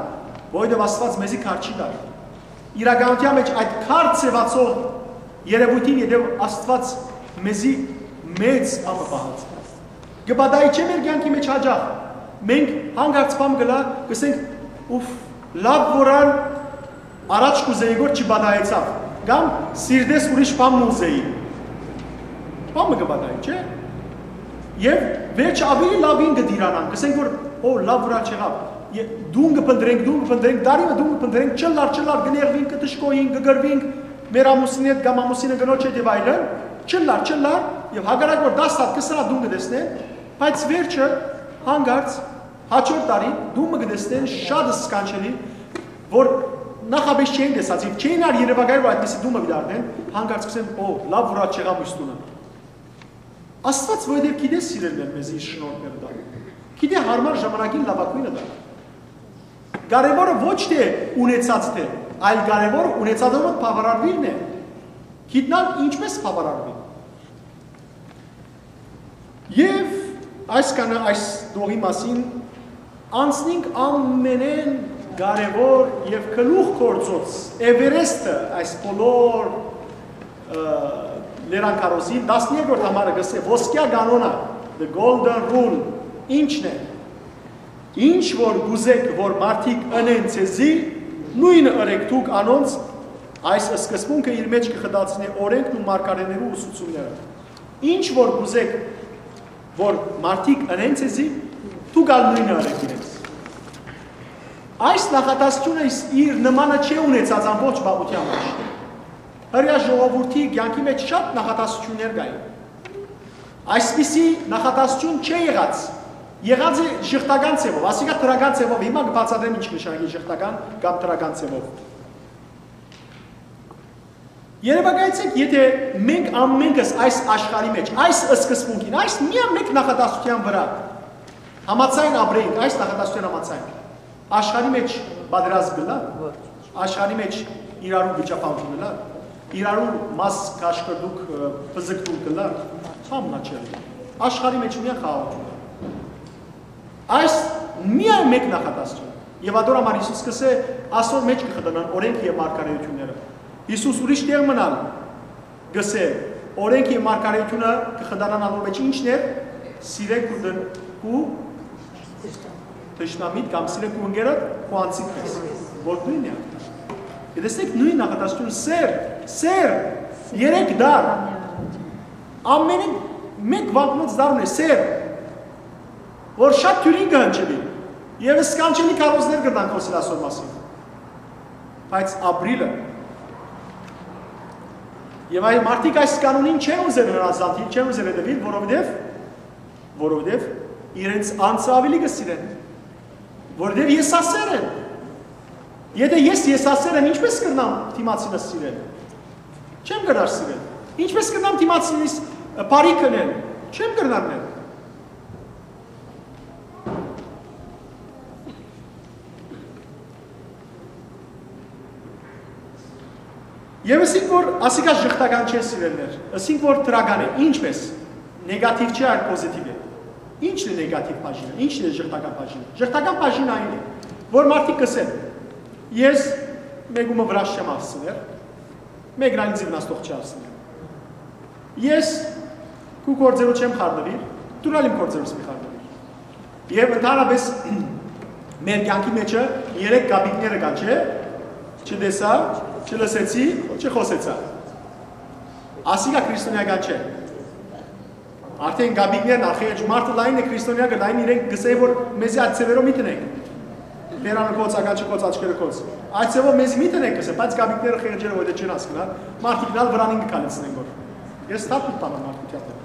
որովհետեւ Աստուած մեզի քար չի տար։ Իրականութեան մէջ այդ քար ձեւացող երեւոյթին ետեւ Աստուած մեզի մեծ բան մը պահած է։ Կը պատահի չէ՞ մեր կեանքի մէջ հաճախ։ Մենք հանկարծ բան կ'ըլլայ, կ'ըսենք, «Ուֆ, լաւ որ ալ առաջ կ'ուզէի որ չպատահեցաւ», կամ «Սիրտես ուրիշ բան մը ուզէի»։ Բան մը կը պատահի, չէ՞։ Եւ վերջը աւելի լաւին կը տիրանանք, կ'ըսենք որ, «Օ, լաւ որ ալ չեղաւ»։ Ե-, տուն կը փնտռենք, տուն կը փնտռենք, տարի մը տուն կը փնտռենք, չըլլար, չըլլար, կը նեղուինք, կը դժգոհինք, կը կռուինք մեր ամուսինի հետ կամ ամուսինը կնոջ հետ եւ այլն, չըլլար, չըլլար, եւ հակառակ որ տաս հատ քսան հատ տուն կը տեսնեն, բայց վերջը հանկարծ հաջորդ տարի տուն մը կը տեսնեն շատ սքանչելի, որ նախապէս չէին տեսած եւ չէին ալ երեւակայել որ այդպիսի տուն մը պիտի առնեն, հանկարծ կ'ըսեն, «Օ, լաւ որ ալ չեղա մյուս տունը»։ Աստուած որովհետեւ գիտէ, սիրելիներ, մեզի իր շնորհքները տայ։ Գիտէ յարմար ժամանակին լաւագոյնը տայ։ Կարեւորը ոչ թէ ունեցածդ է, այլ կարեւորը ունեցածով բաւարարուիլն է։ Գիտնալ ինչպէս բաւարարուիլ։ Եւ այսքանը այս տողի մասին, անցնինք ամենէն կարեւոր եւ գլուխ գործոց Էվերեստը, այս բոլոր, ը, լերանքարոզին, տասներկերորդ համարը կ'ըսէ, ոսկեայ կանոնը, the golden rule, ի՞նչն է։ Ինչ որ կ'ուզէք որ մարդիկ ընեն ձեզի, նոյնը ըրէք դուք անոնց, այս սկզբունքը իր մէջ կը խտացնէ օրէնքն ու մարգարէներու ուսուցումները։ Ինչ որ կ'ուզէք որ մարդիկ ընեն ձեզի, դուք ալ նոյնը ըրէք իրենց։ Այս նախատասությունը իս-, իր նմանը չէ ունեցած ամբողջ պատմութեան մէջ։ Հրեայ ժողովուրդի կեանքի մէջ շատ նախատասություններ կային։ Այսպիսի նախատասություն չէ եղած։ Եղած է ժխտական ձևով, ասիկա դրական ձևով, հիմա կը բացատրեմ ինչ կը նշանակի ժխտական կամ դրական ձևով։ Երեւակայեցէք, եթէ մենք ամենքս այս աշխարհի մէջ, այս սկզբունքին, այս միայն մէկ նախատասության վրայ համաձայն ապրենք, այս նախատասության համաձայն, աշխարհի մէջ պատերազմ կ'ըլլա, ոչ, աշխարհի մէջ իրարու վիճաբանություն կ'ըլլա, իրարու մաս կաշկրտուկ, ը, բզկտուկ կ'ըլլա, բան մը չէ։ Աշխարհի մէջ միայն խաղաղություն է։ Այս միայն մէկ նախատասություն։ Եւ ատոր համար Յիսուս կ'ըսէ, «Ասոր մէջ կը խտանան օրէնքը եւ մարգարէությունները»։ Յիսուս ուրիշ տեղ մըն ալ կ'ըսէ, «Օրէնքը եւ մարգարէությունը կը խտանան անոր մէջ ինչն էր, սիրե քու դն-, քու թշնամիդ կամ սիրե քու ընկերդ քու անձիդ պես», որ նոյնն է։ Եթէ տեսնեք նոյն նախատասությունը, սեր, սեր, երեք դար, ամենը մէկ վանքնոց դար ունի, սեր, որ շատ դիւրին կը հնչելի, եւ սքանչելի քարոզներ կրնան խոսել ասոր մասին, բայց ապրիլը, եւ այ մարդիկ այս կանոնին չեն ուզեր հնազանդիլ, չեն ուզեր հետեւիլ, որովհետեւ, որովհետեւ իրենց անձը աւելի կը սիրեն, որովհետեւ եսասեր են։ Եթէ ես եսասեր եմ, ինչպէս կրնամ դիմացինս սիրել։ Չեմ կրնար սիրել։ Ինչպէս կրնամ դիմացինիս, ը, բարի քնել։ Չեմ կրնար նել։ Եվ ըսինք, որ ասիկա ժխտական չէ, սիրելիներ, ըսինք, որ դրական է, ինչպես, նեգատիվ չէ, այլ պոզիտիվ է։ Ի՞նչն է նեգատիվ բաժինը, ի՞նչն է ժխտական բաժինը։ Ժխտական բաժինը այն է, որ մարդիկ կ'ըսեն. «Ես մէկու մը վրաս չեմ հասցներ, մէկն ալ ինծի վնասող չի հասցներ։ Ես քու գործերու չեմ խառնուիր, դուն ալ իմ գործերուս մի խառնուիր»։ Եւ ընդհանրապէս մեր կեանքի մէջը երեք կապիկները կան, չէ՞։ Չտեսայ, չլսեցի, չխօսեցայ։ Ասիկա քրիստոնեական չէ։ Արդեն կապիկներն ա, խեղճ մարդը լայն է, քրիստոնեակը լայն, իրենք կ'ըսեն, որ մեզի այդ ձեւերով մի դնենք։ Բերանը կոց, ականջը կոց, աչքերը կոց։ Այդ ձեւով մեզի մի դնենք, կ'ըսեն, բայց կապիկները խեղճերը որ չեն հասկնար, մարդիկն ալ վրանին կը քալեցնեն, որ ես թափ կու տանեմ մարդկութեան դեմ։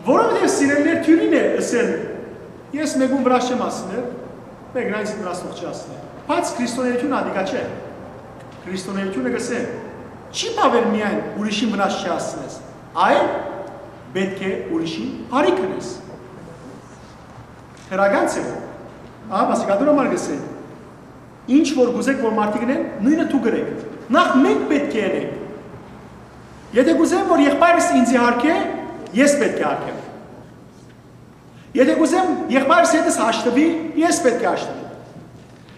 Որովհետեւ սիրելիներ, դիւրին է ըսել. «Ես մէկուն վրաս չեմ հասցներ, մէկն ալ ինծի վնասող չի հասցներ»։ Բայց քրիստոնեությունը ատիկա չէ։ Քրիստոնեությունը կ'ըսէ. «Չի բաւեր միայն ուրիշին վնաս չի հասցնես, այլ պէտք է ուրիշին բարի գնես»։ Դրական ձեւով։ Ահա, մասիկա դուր համար կ'ըսէ. «Ինչ որ կ'ուզէք որ մարդիկ ընեն, նոյնը դուք ըրէք։ Նախ մենք պէտք է ընենք։ Եթե կ'ուզեմ որ եղբայրս ինծի յարգէ, ես պէտք է յարգեմ։ Եթե կ'ուզեմ եղբայրս հետս հաշտուի, ես պէտք է հաշտուեմ։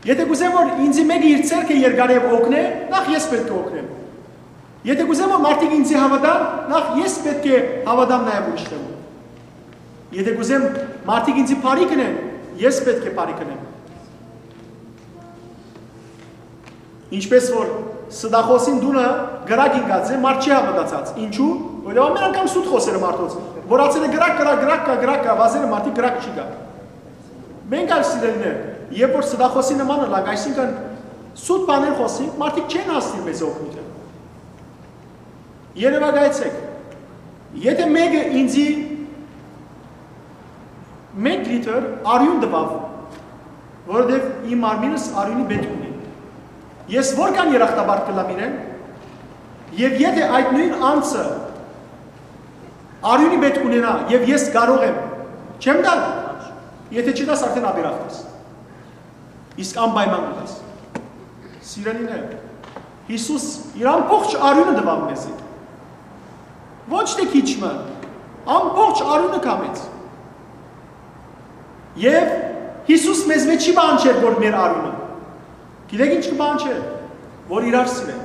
Եթե կ'ուզեմ որ ինծի մէկը իր ձեռքը երկարէ եւ օգնէ, նախ ես պէտք է օգնեմ։ Եթե կ'ուզեմ որ մարդիկ ինծի հաւատան, նախ ես պէտք է հաւատամ նաեւ ուրիշներուն։ Եթե կ'ուզեմ մարդիկ ինծի բարի գնեն, ես պէտք է բարի գնեմ»։ Ինչպէս որ ստախոսին տունը կրակ ինկած է, մարդ չի հաւատացած։ Ինչու՞։ Որովհետեւ ամեն անգամ սուտ խօսեր է մարդոց, որ ասել է՝ «Կրակ, կրակ, կրակ կայ, կրակ կայ», վազեր է, մարդիկ, կրակ չի գայ։ Մենք ալ, սիրելիներ, երբ որ ստախոսի նման ըլանք, այսինքն սուտ բաներ խօսինք, մարդիկ չեն հասնիր մեզ օգնութեան։ Երեւակայեցէք, եթե մէկը ինծի մէկ լիթր արիւն տուաւ, որովհետեւ իմ մարմինս արիւնի պէտք ունի, ես որքան երախտապարտ կ'ըլլամ իրեն։ Եւ եթե այդ նոյն անձը արիւնի պէտք ունենայ եւ ես կարող եմ, չեմ տալ, եթե չտաս, արդեն ապերախտ ես։ Իսկ անպայման կու տաս։ Սիրելիներ, Յիսուս իր ամբողջ արիւնը տուաւ մեզի։ Ոչ թէ քիչ մը, ամբողջ արիւնը կամեց։ Եւ Յիսուս մեզմէ չի պահանջեր որ մեր արիւնը։ Գիտեք ինչ կը պահանջեր։ Որ իրար սիրենք։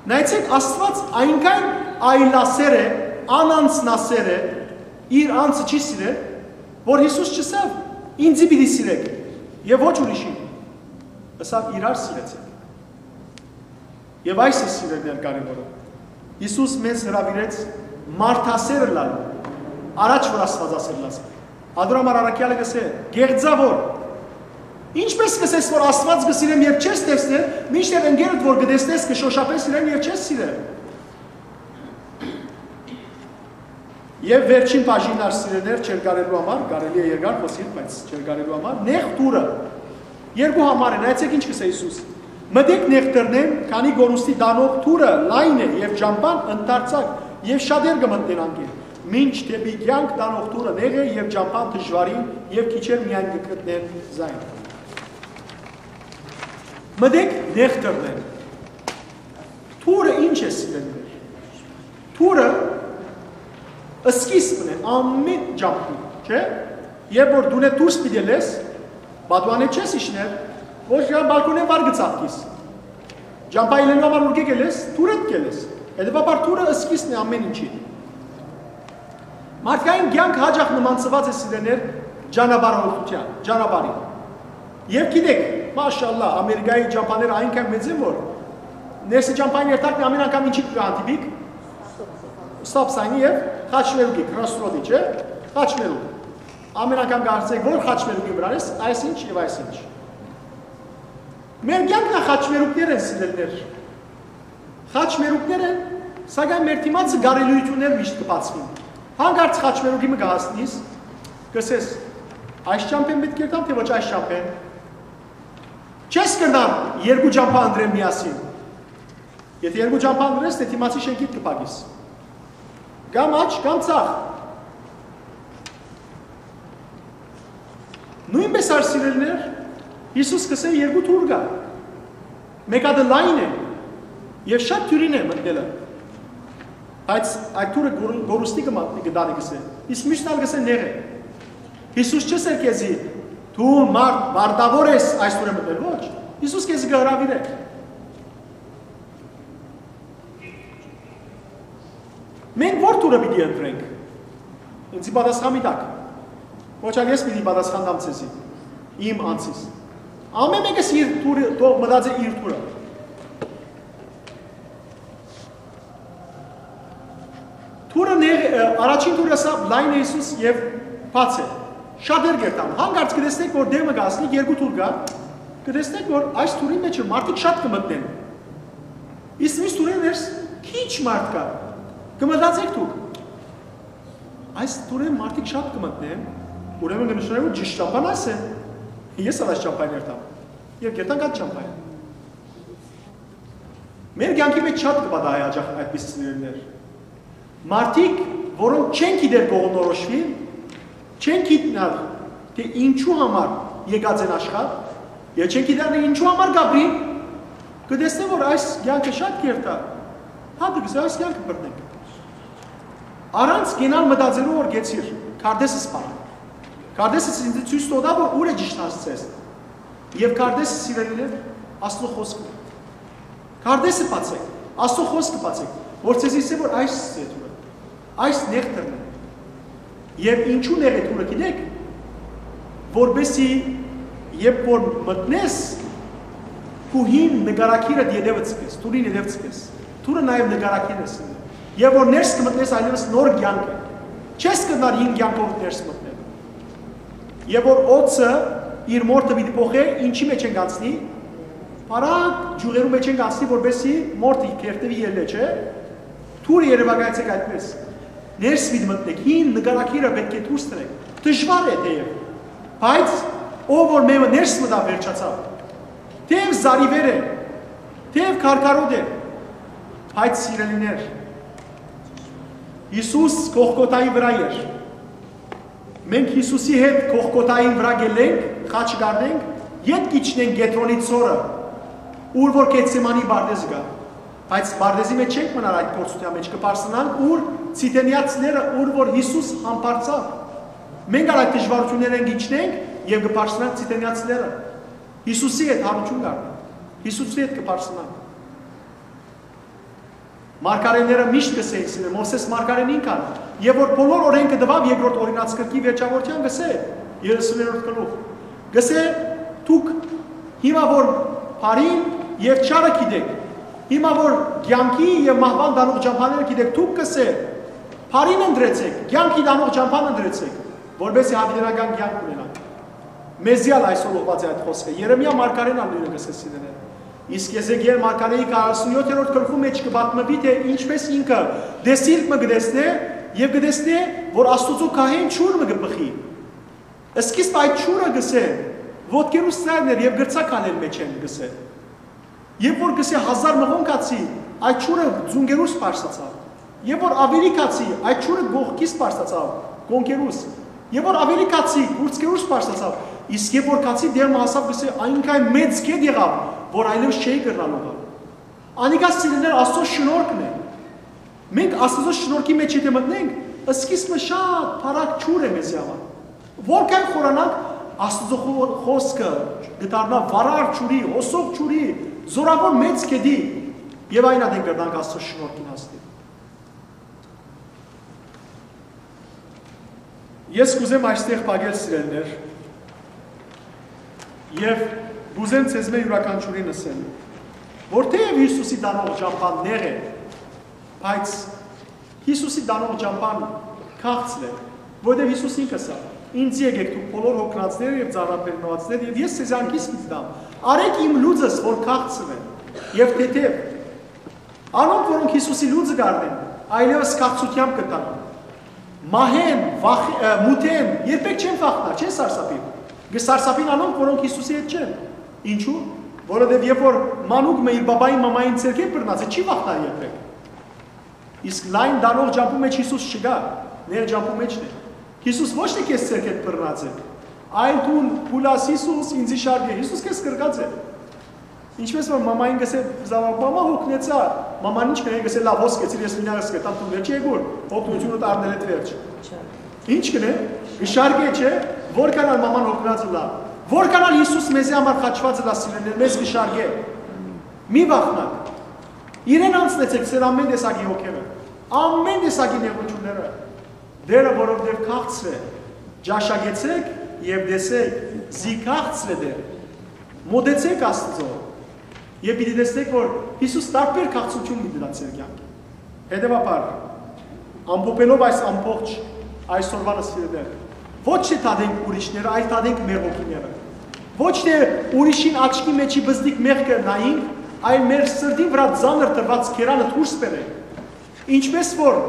Նայեցեք, Աստուած այնքան այլասեր է, անանձնասեր է, իր անձը չի սիրեր, որ Յիսուս չըսաւ. «Ինծի պիտի սիրեք եւ ոչ ուրիշին»։ Ըսաւ. «Իրար սիրեցեք»։ Եւ այս է, սիրելիներ, կարեւորը։ Յիսուս մեզ հրաւիրեց մարդասեր ըլլալու, առաջ որ Աստուածասեր ըլլաս։ Ատոր համար առաքեալը կ'ըսէ. «Կեղծաւոր, ինչպէս կ'ըսես որ Աստուած կը սիրեմ, երբ չես տեսներ, մինչդեռ ընկերդ որ կը տեսնես, կը շօշափես իրեն եւ չես սիրեր»։ Եւ վերջին բաժինն ալ, սիրելիներ, չեր կարելու համար, կարելի է երկար խոսիլ, բայց չեր կարելու համար, նեղ դուռը։ Երկու համար է, նայեցեք ինչ կ'ըսէ Յիսուս. «Մտեք նեղ դռնէն, քանի կորուստի տանող դուռը լայն է եւ ճամբան ընդարձակ, եւ շատեր կը մտնեն անկէ, մինչ դէպի կեանք տանող դուռը նեղ է եւ ճամբան դժուարին, եւ քիչեր միայն կը գտնեն զայն»։ Մտեք նեղ դռնէն։ Դուռը ինչ է, սիրելիներ։ Դուռը սկիզբն է ամեն ճամբի, չէ՞։ Երբ որ դունէ դուրս պիտի լես, պատուանէ չես իջներ, ոչ կան բալկոնէ վար կը ծաղկիս։ Ճամբայ ելնելու համար ուրկէ կ'ելես, դուռէդ կ'ելես։ Հետեւաբար դուռը սկիզբն է ամեն ինչի։ Մարդկային կեանքը հաճախ նմանցուած է, սիրելիներ, ճանապարհորդութեան, ճանապարհին։ Եվ գիտեք, մաշալլա, Ամերիկայի ճամբաները այնքան մեծ են, որ ներսի ճամբային երթակն ամեն անգամ ինչի՞ կը հանդիպիք, stop sign-ի եւ խաչմերուկի, crossroad-ի, չէ՞, խաչմերուկ։ Ամեն անգամ կարծեք, որ խաչմերուկի վրան ես, այս ինչ եւ այս ինչ։ Մեր կյանքն ա խաչմերուկներ են, սիրելիներ։ Խաչմերուկներ են, սակայն մեր դիմացը կարելիություններ միշտ կը բացվին։ Հանկարծ խաչմերուկի մը կը հասնիս, կ'ըսես. «Այս ճամբեն պիտի կերտամ, թէ ոչ այս ճամբեն»։ Չես կրնար երկու ճամբա ընտրել միասին։ Եթե երկու ճամբա ընտրես, թէ դիմացի շենքիդ կը փակիս։ Կամ աջ, կամ ձախ։ Նոյնպէս ալ, սիրելիներ, Յիսուս կ'ըսէ երկու դուռ կայ։ Մէկ հատը լայն է, եւ շատ դիւրին է մտնելը։ Բայց այդ թուրը գոր-, գորուստի կը մատնի, կը տանի, կըսէ։ Իսկ միշտ ալ կըսէ՝ նեղ է։ Յիսուս չ'ըսեր քեզի՝ դու մարդ, մարտաւոր ես այս թուրը մտնել, ոչ։ Յիսուս քեզի կը հրաւիրէ։ Մենք ո՞ր թուրը պիտի ընտրենք։ Ինձի պատասխան մի տաք։ Ոչ ալ ես պիտի պատասխան տամ ձեզի, իմ անձիս։ Ամէն մէկս իր թուրը, թող մտածէ իր թուրը։ Թուրը նեղ-, ը, առաջին թուրը սա լայն է Յիսուս եւ բաց է։ Շատեր կերտան։ Հանկարծ կը տեսնեք, որ դէմը կ'ասնի, երկու թուր կայ, կը տեսնեք, որ այս թուրին մէջը մարդիկ շատ կը մտնեն։ Իսկ մյուս թուրերուն ներս քիչ մարդ կայ։ Կը մտածեք դուք։ Այս թուրերուն մարդիկ շատ կը մտնեն, ուրեմն կը նշանակէ, որ ճիշդ ճամբան այս է։ Ես ալ այս ճամբան երթամ։ Եւ կերտանք այդ ճամբան։ Մեր կեանքի մէջ շատ կը պատահի հաճախ այդպիսի սիրելիներ։ Մարդիկ, որոնք չեն գիտեր կողմնորոշուիլ, չեն գիտնար, թէ ինչու համար եկած են աշխարհ, եւ չեն գիտար, թէ ինչու համար կ'ապրին, կը տեսնեն, որ այս կեանքը շատ կերթ է, հա, դուք այս կեանքը բռնենք։ Առանց կենալ մտածելու, որ գեցիր, քարտէսս պահ։ Քարտէսս ինձ ցոյց տուաւ, որ ուր է ճիշդ հասցես։ Եւ քարտէսը, սիրելիներ, Աստուծոյ խօսքը։ Քարտէսը բացէք, Աստուծոյ խօսքը բացէք, որ ձեզ ըսէ, որ այս է թուրը, այս նեղ թուրն է։ Եւ ինչու նեղ է թուրը, գիտեք, որպեսզի երբ որ մտնես, քու հին նկարագիրը ետեւը ցկես, թուրին ետեւ ցկես, թուրը նաեւ նկարագիրն է սիրելիներ։ Եւ որ ներս կը մտնես, այլեւս նոր կեանք է։ Չես կրնար հին կեանքով ներս մտնել։ Եւ որ օծը իր մորթը պիտի փոխէ, ինչի մեջ են գանցնի, բարակ ջուղերու մեջ են գանցնի, որպեսզի մորթը կերտուի ելլէ, չէ՞։ Թուրը երեւակայեցեք այդպես։ Ներս պիտի մտնեք, հին նկարագիրը պէտք է դուրս տրեք։ Դժուար է թեեւ, բայց ով որ մեմը ներս մտա, վերջացաւ։ Թեեւ զարիվեր է, թեեւ քարքարոտ է, բայց սիրելիներ, Յիսուս Գողգոթայի վրայ էր։ Մենք Յիսուսի հետ Գողգոթային վրայ գելենք, խաչը կ'առնենք, ետ կ'իջնենք Կեդրոնի ծորը, ուր որ Գեթսեմանի պարտէզը կայ։ Բայց պարտէզի մեջ չենք մնար այդ փորձութեան մեջ, կը բարձրանանք ուր Ցիդենեացիները, ուր որ Յիսուս համբարձաւ։ Մենք ալ այդ դժուարութիւններէն կ'իջնենք եւ կը բարձրանանք Ցիդենեացիները։ Յիսուսի հետ յարութիւն կ'առնանք։ Յիսուսի հետ կը բարձրանանք։ Մարգարէները միշտ կ'ըսէին սիրել, Մովսէս մարգարէն ինքն ալ, եւ որ բոլոր օրէնքը տուաւ երկրորդ օրինացգրքի վերջավորութեան կ'ըսէ, երեսուներորդ գլուխ, կ'ըսէ, դուք հիմա որ բարին եւ չարը գիտեք, հիմա որ կեանքի եւ մահուան տանող ճամբաները գիտեք, դուք կ'ըսէ, բարին ընտրեցեք, կեանքի տանող ճամբան ընտրեցեք, որպեսզի յաւիտենական կեանք ունենաք։ Մեզի ալ այսօր ուղղուած է այդ խօսքը։ Երեմիա մարգարէն ալ նոյնը կ'ըսէ սիրելիներ։ Իսկ Եզեկիել մարգարէի քառասունյոթերորդ գլխու մեջ կը պատմուի, թէ ինչպէս ինքը դեսիլք մը կը տեսնէ եւ կը տեսնէ, որ Աստուծոյ գահէն ջուր մը կը բխի։ Սկիզբ այդ ջուրը, կ'ըսէ, ոտքերուս ծայրն էր եւ կրցայ քալել մէջէն, կ'ըսէ։ Երբ որ, կ'ըսէ, հազար մղոն գացի, այդ ջուրը ծունկերուս բարձրացաւ։ Երբ որ աւելի գացի, այդ ջուրը կողքիս բարձրացաւ, կոնքերուս։ Երբ որ աւելի գացի, կուրծքերուս բարձրացաւ, իսկ երբ որ գացի, դէմ մը հասաւ, կ'ըսէ, այնքան մեծ գետ եղաւ, որ այլեւս չէի կրնար լողալ։ Անիկա, սիրելիներ, Աստուծոյ շնորհքն է։ Մենք Աստուծոյ շնորհքի մեջ եթէ մտնենք, սկիզբը շատ բարակ ջուր է մեզի համար։ Որքան խորանանք, Աստուծոյ խո-, խօսքը կը դառնայ վարար ջուրի, հոսող ջուրի, զօրաւոր մեծ գետի, եւ այն ատեն կրնանք Աստուծոյ շնորհքին հասնել։ Ես կ'ուզեմ այստեղ փակել, սիրելիներ, եւ կ'ուզեմ ձեզմէ իւրաքանչիւրին ըսեմ, որ թէեւ Յիսուսի տանող ճամբան նեղ է, բայց Յիսուսի տանող ճամբան քաղցր է, որովհետեւ Յիսուս ինքը ըսաւ. «Ինձի եկէք դուք բոլոր հոգնածներ եւ ծանրաբեռնուածներ, եւ ես ձեզի անկիս պիտի տամ։ Առէք իմ լուծս, որ քաղցր է եւ թեթեւ»։ Անոնք, որոնք Յիսուսի լուծը կ'առնեն, այլեւս քաղցրութեամբ կը տանան։ Մահեն, վախ-, ը, մութեն երբեք չեն վախնար, չեն սարսափի։ Կը սարսափին անոնք, որոնք Յիսուսի հետ չեն։ Ինչու՞։ Որովհետեւ երբ որ մանուկ մը իր բաբային մամային ձեռքէն բռնած է, չի վախնար երբեք։ Իսկ լայն տանող ճամբու մեջ Յիսուս չկայ, նեղ ճամբու մէջն է։ Յիսուս ոչ թէ քեզ ձեռքէդ բռնած է, այլ դուն փուլաս Յիսուս, ինձի շարք է։ Յիսուս քեզ կրկած է։ Ինչպես որ մամային կ'ըսէ, զաւակ, մամա հոգնեցայ, Մաման ինչ կ'ընէ, կ'ըսէ, լաւ, հոս կեցիր, ես մինակ կտամ, դուն վերջի եկուր, օգնութիւնդ առնել էդ վերջ։ Ինչ կ'ընէ, կը շարգէ, չէ՞, որքան ալ մաման օգնած ըլլայ, որքան ալ Յիսուս մեզի համար խաչուած ըլլայ, սիրելիներ, մեզ կը շարգէ։ Մի վախնաք։ Իրեն անցնեցէք ձեր ամեն տեսակի հոգերը, ամեն տեսակի նեղութիւնները։ Դերը, որովհետեւ քաղցր է, ճաշակեցէք եւ տեսէք, զի քաղցր է Տէր։ Մօտեցէք Աստուծոյ եւ պիտի տեսնէք, որ Յիսուս տարբեր քաղցրութիւն պիտի տայ ձեր կեանքին։ Հետեւաբար, ամփոփելով այս ամբողջ այսօրվան, սիրելիներ, ոչ թէ դատենք ուրիշները, այլ դատենք մեր հոգիները։ Ոչ թէ ուրիշին աչքի մէջի բզդիկ մեղքը նայենք, այլ մեր սրտին վրայ ծանր դրուած գերանը դուրս բերենք։ Ինչպէս որ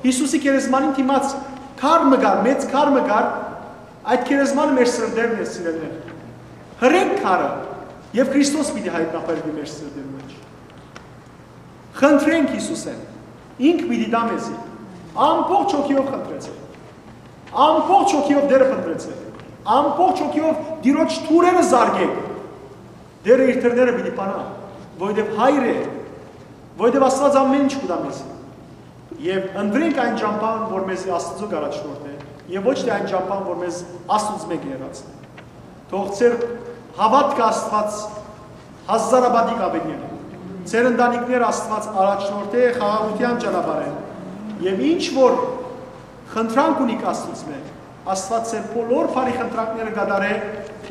Յիսուսի գերեզմանին դիմաց քար մը կար, մեծ քար մը կար, այդ գերեզմանը մեր սրտերն է, սիրելիներ։ Հրենք քարը, եւ Քրիստոս պիտի հայտնաբերուի մեր սրտերու մէջ։ Խնդրենք Յիսուսէն, ինք պիտի տայ մեզի։ Ամբողջ հոգիով խնդրեցէ։ Ամբողջ հոգիով Տէրը փնտռեցէ։ Ամբողջ հոգիով Տիրոջ թուրերը զարկէք։ Տէրը իր թրները պիտի բանայ, որովհետեւ հայր է, որովհետեւ Աստուած ամեն ինչ կու տայ մեզի։ Եւ ընտրենք այն ճամբան, որ մեզի Աստուծոյ կ'առաջնորդէ, եւ ոչ թէ այն ճամբան, որ մեզ Աստուծմէ կը հեռացնէ։ Թող ձեր հաւատքը Աստուած հազարապատիկ աւելնէ։ Ձեր ընտանիքները Աստուած առաջնորդէ խաղաղութեան ճանապարհէն։ Եւ ինչ որ խնդրանք ունիք Աստուծմէ, Աստուած ձեր բոլոր բարի խնդրանքները կատարէ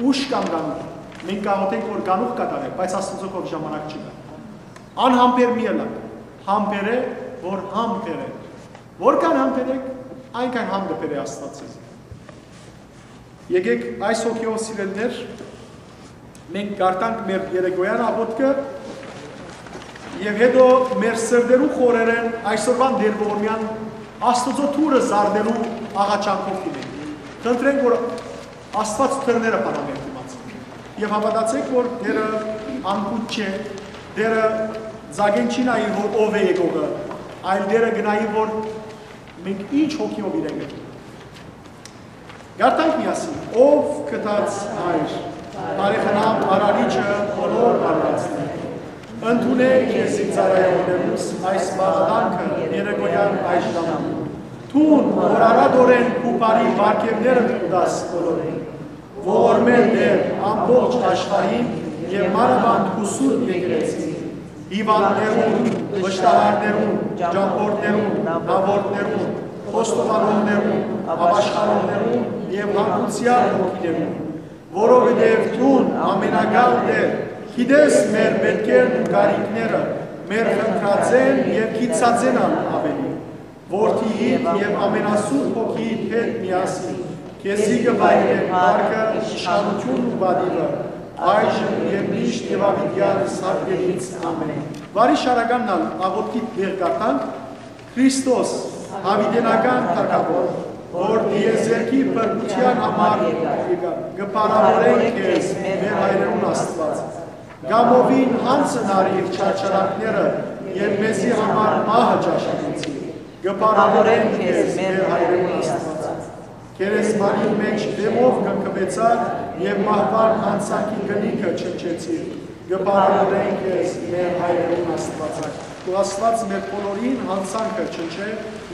ուշ կամ կանուխ։ Մենք կ'աղօթենք, որ կանուխ կատարէ, բայց Աստուծոյ քով ժամանակ չկայ։ Անհամբեր մի ըլլաք, համբերէ, որ համբերէ։ Որքան համբերէք, այնքան համ կը բերէ Աստուած ձեզի։ Եկէք այս հոգիով, սիրելիներ, մենք կարդանք մեր երեկոյեան աղօթքը եւ հետո մեր սրտերու խորերէն այսօրուան Տէր Ողորմեան Աստուծոյ թուրը զարնելու աղաչանքով դիմենք։ Խնդրենք, որ Աստուած թրները բանայ մեր դիմաց։ Եւ հաւատացէք, որ Տէրը անկութ չէ, Տէրը ձագեն չի նայի, որ ով է եկողը, այլ Տէրը կը նայի, որ մենք ինչ հոգիով իրեն գտնենք։ Կարդանք միասին. «Ով գթած Հայր, բարեխնամ Արարիչը բոլոր անհատներուն, ընդունէ քեզի ծառայողներուս այս մաղթանքը երեկոյեան այս ժամուն։ Դուն, որ արատորեն քու բարի պարգեւները կու տաս բոլորին, ողորմէ Տէր ամբողջ աշխարհին եւ մանաւանդ քու սուրբ եկեղեցին, հիւանդներուն, վշտահարներուն, ճամբորդներուն, հաւորդներուն, խոստովանողներուն, ապաշխարողներուն եւ հանգուցեալ հոգիներուն, որովհետեւ դուն, ամենակալ Տէր, գիտես մեր մէտքերն ու կարիքները, մեր խնդրածէն եւ գիտցածէն ալ աւելի։ Որդիիդ եւ Ամենասուրբ Հոգիիդ հետ միասին քեզի կը վայելեն փառքը, իշխանութիւնն ու պատիւը, այժմ եւ միշտ եւ աւիտեան սատկերից։ Ամէն»։ Վարի շարականն ալ աղօթքիդ դեր կարդանք. «Քրիստոս, յաւիտենական թագաւոր, որ տիեզերքի փրկութեան համար եկայ, կը փառաւորենք քեզ, մեր հայրերուն Աստուած։ Կամովին յանձն առիր չարչարանքները եւ մեզի համար մահը ճաշակեցիր։ Կը փառաւորենք քեզ, մեր հայրերուն Աստուած։ Գերեզմանին մէջ դէմով կնքուեցար եւ մահուան յանցանքի կնիքը չնչեցիր։ Կը փառաւորենք քեզ, մեր հայրերուն Աստուածակ»։ Թող Աստուած մեր բոլորին յանցանքը չնչէ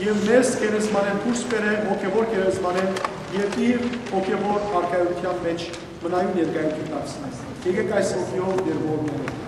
եւ մեզ գերեզմանէն դուրս բերէ հոգեւոր գերեզմանէն եւ իր հոգեւոր արքայութեան մէջ մնայուն ներկայ դարձնենք։ Եկեք այս հոգիով ներողանանք։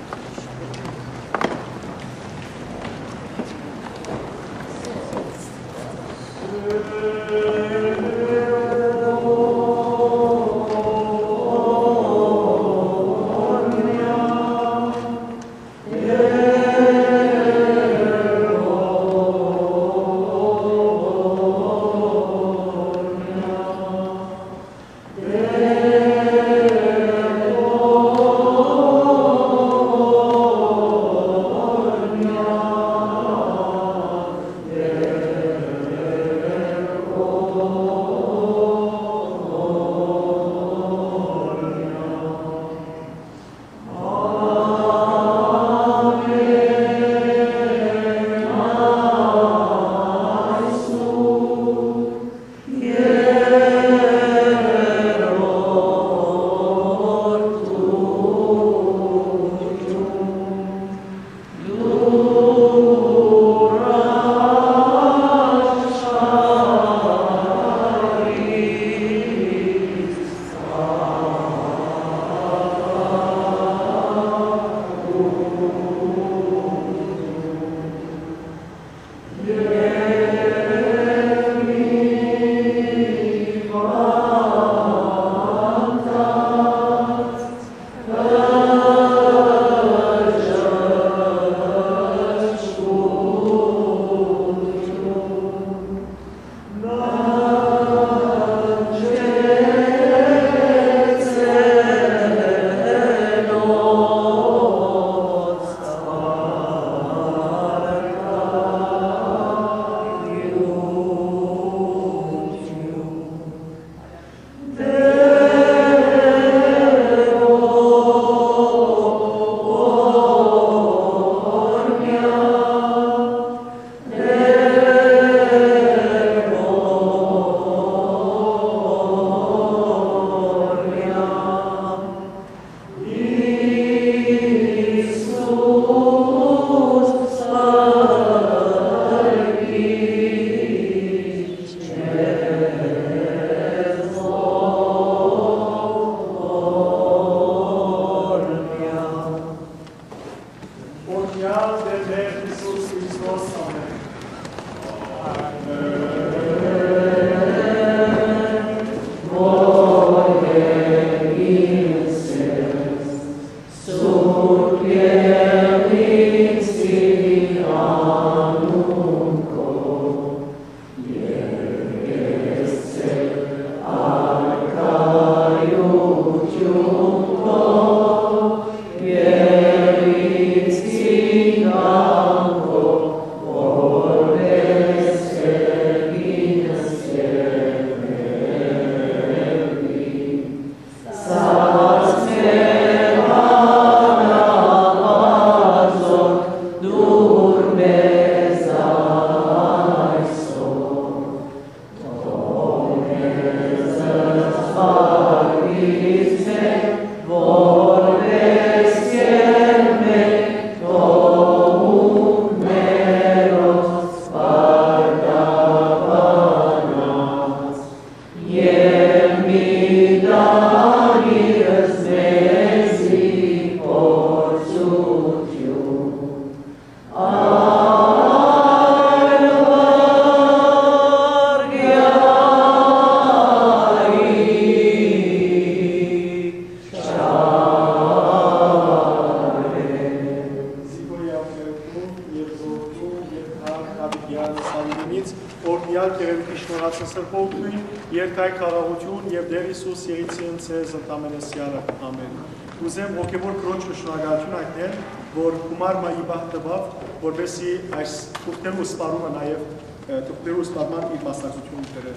Սալուտինից օրհնեալ գեղեցիկ շնորհացն սրբոյթ նոյն, երթայ խաղաղութիւն եւ Տէր Յիսուս եղիցին ձեզ ընդամենեսեանը։ Ամեն։ Կ'ուզեմ հոգեւոր քրոջը շնորհակալութիւն յայտնել, որ գումար մը ի պահ տուաւ, որպեսզի այս թուղթերու սպառումը նաեւ, ը, թուղթերու սպառման իր մասնակցութիւնը բերէ,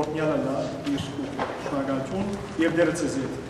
օրհնեալ ըլլայ իր շնորհակալութիւն եւ Տէրը ձեզի հետ։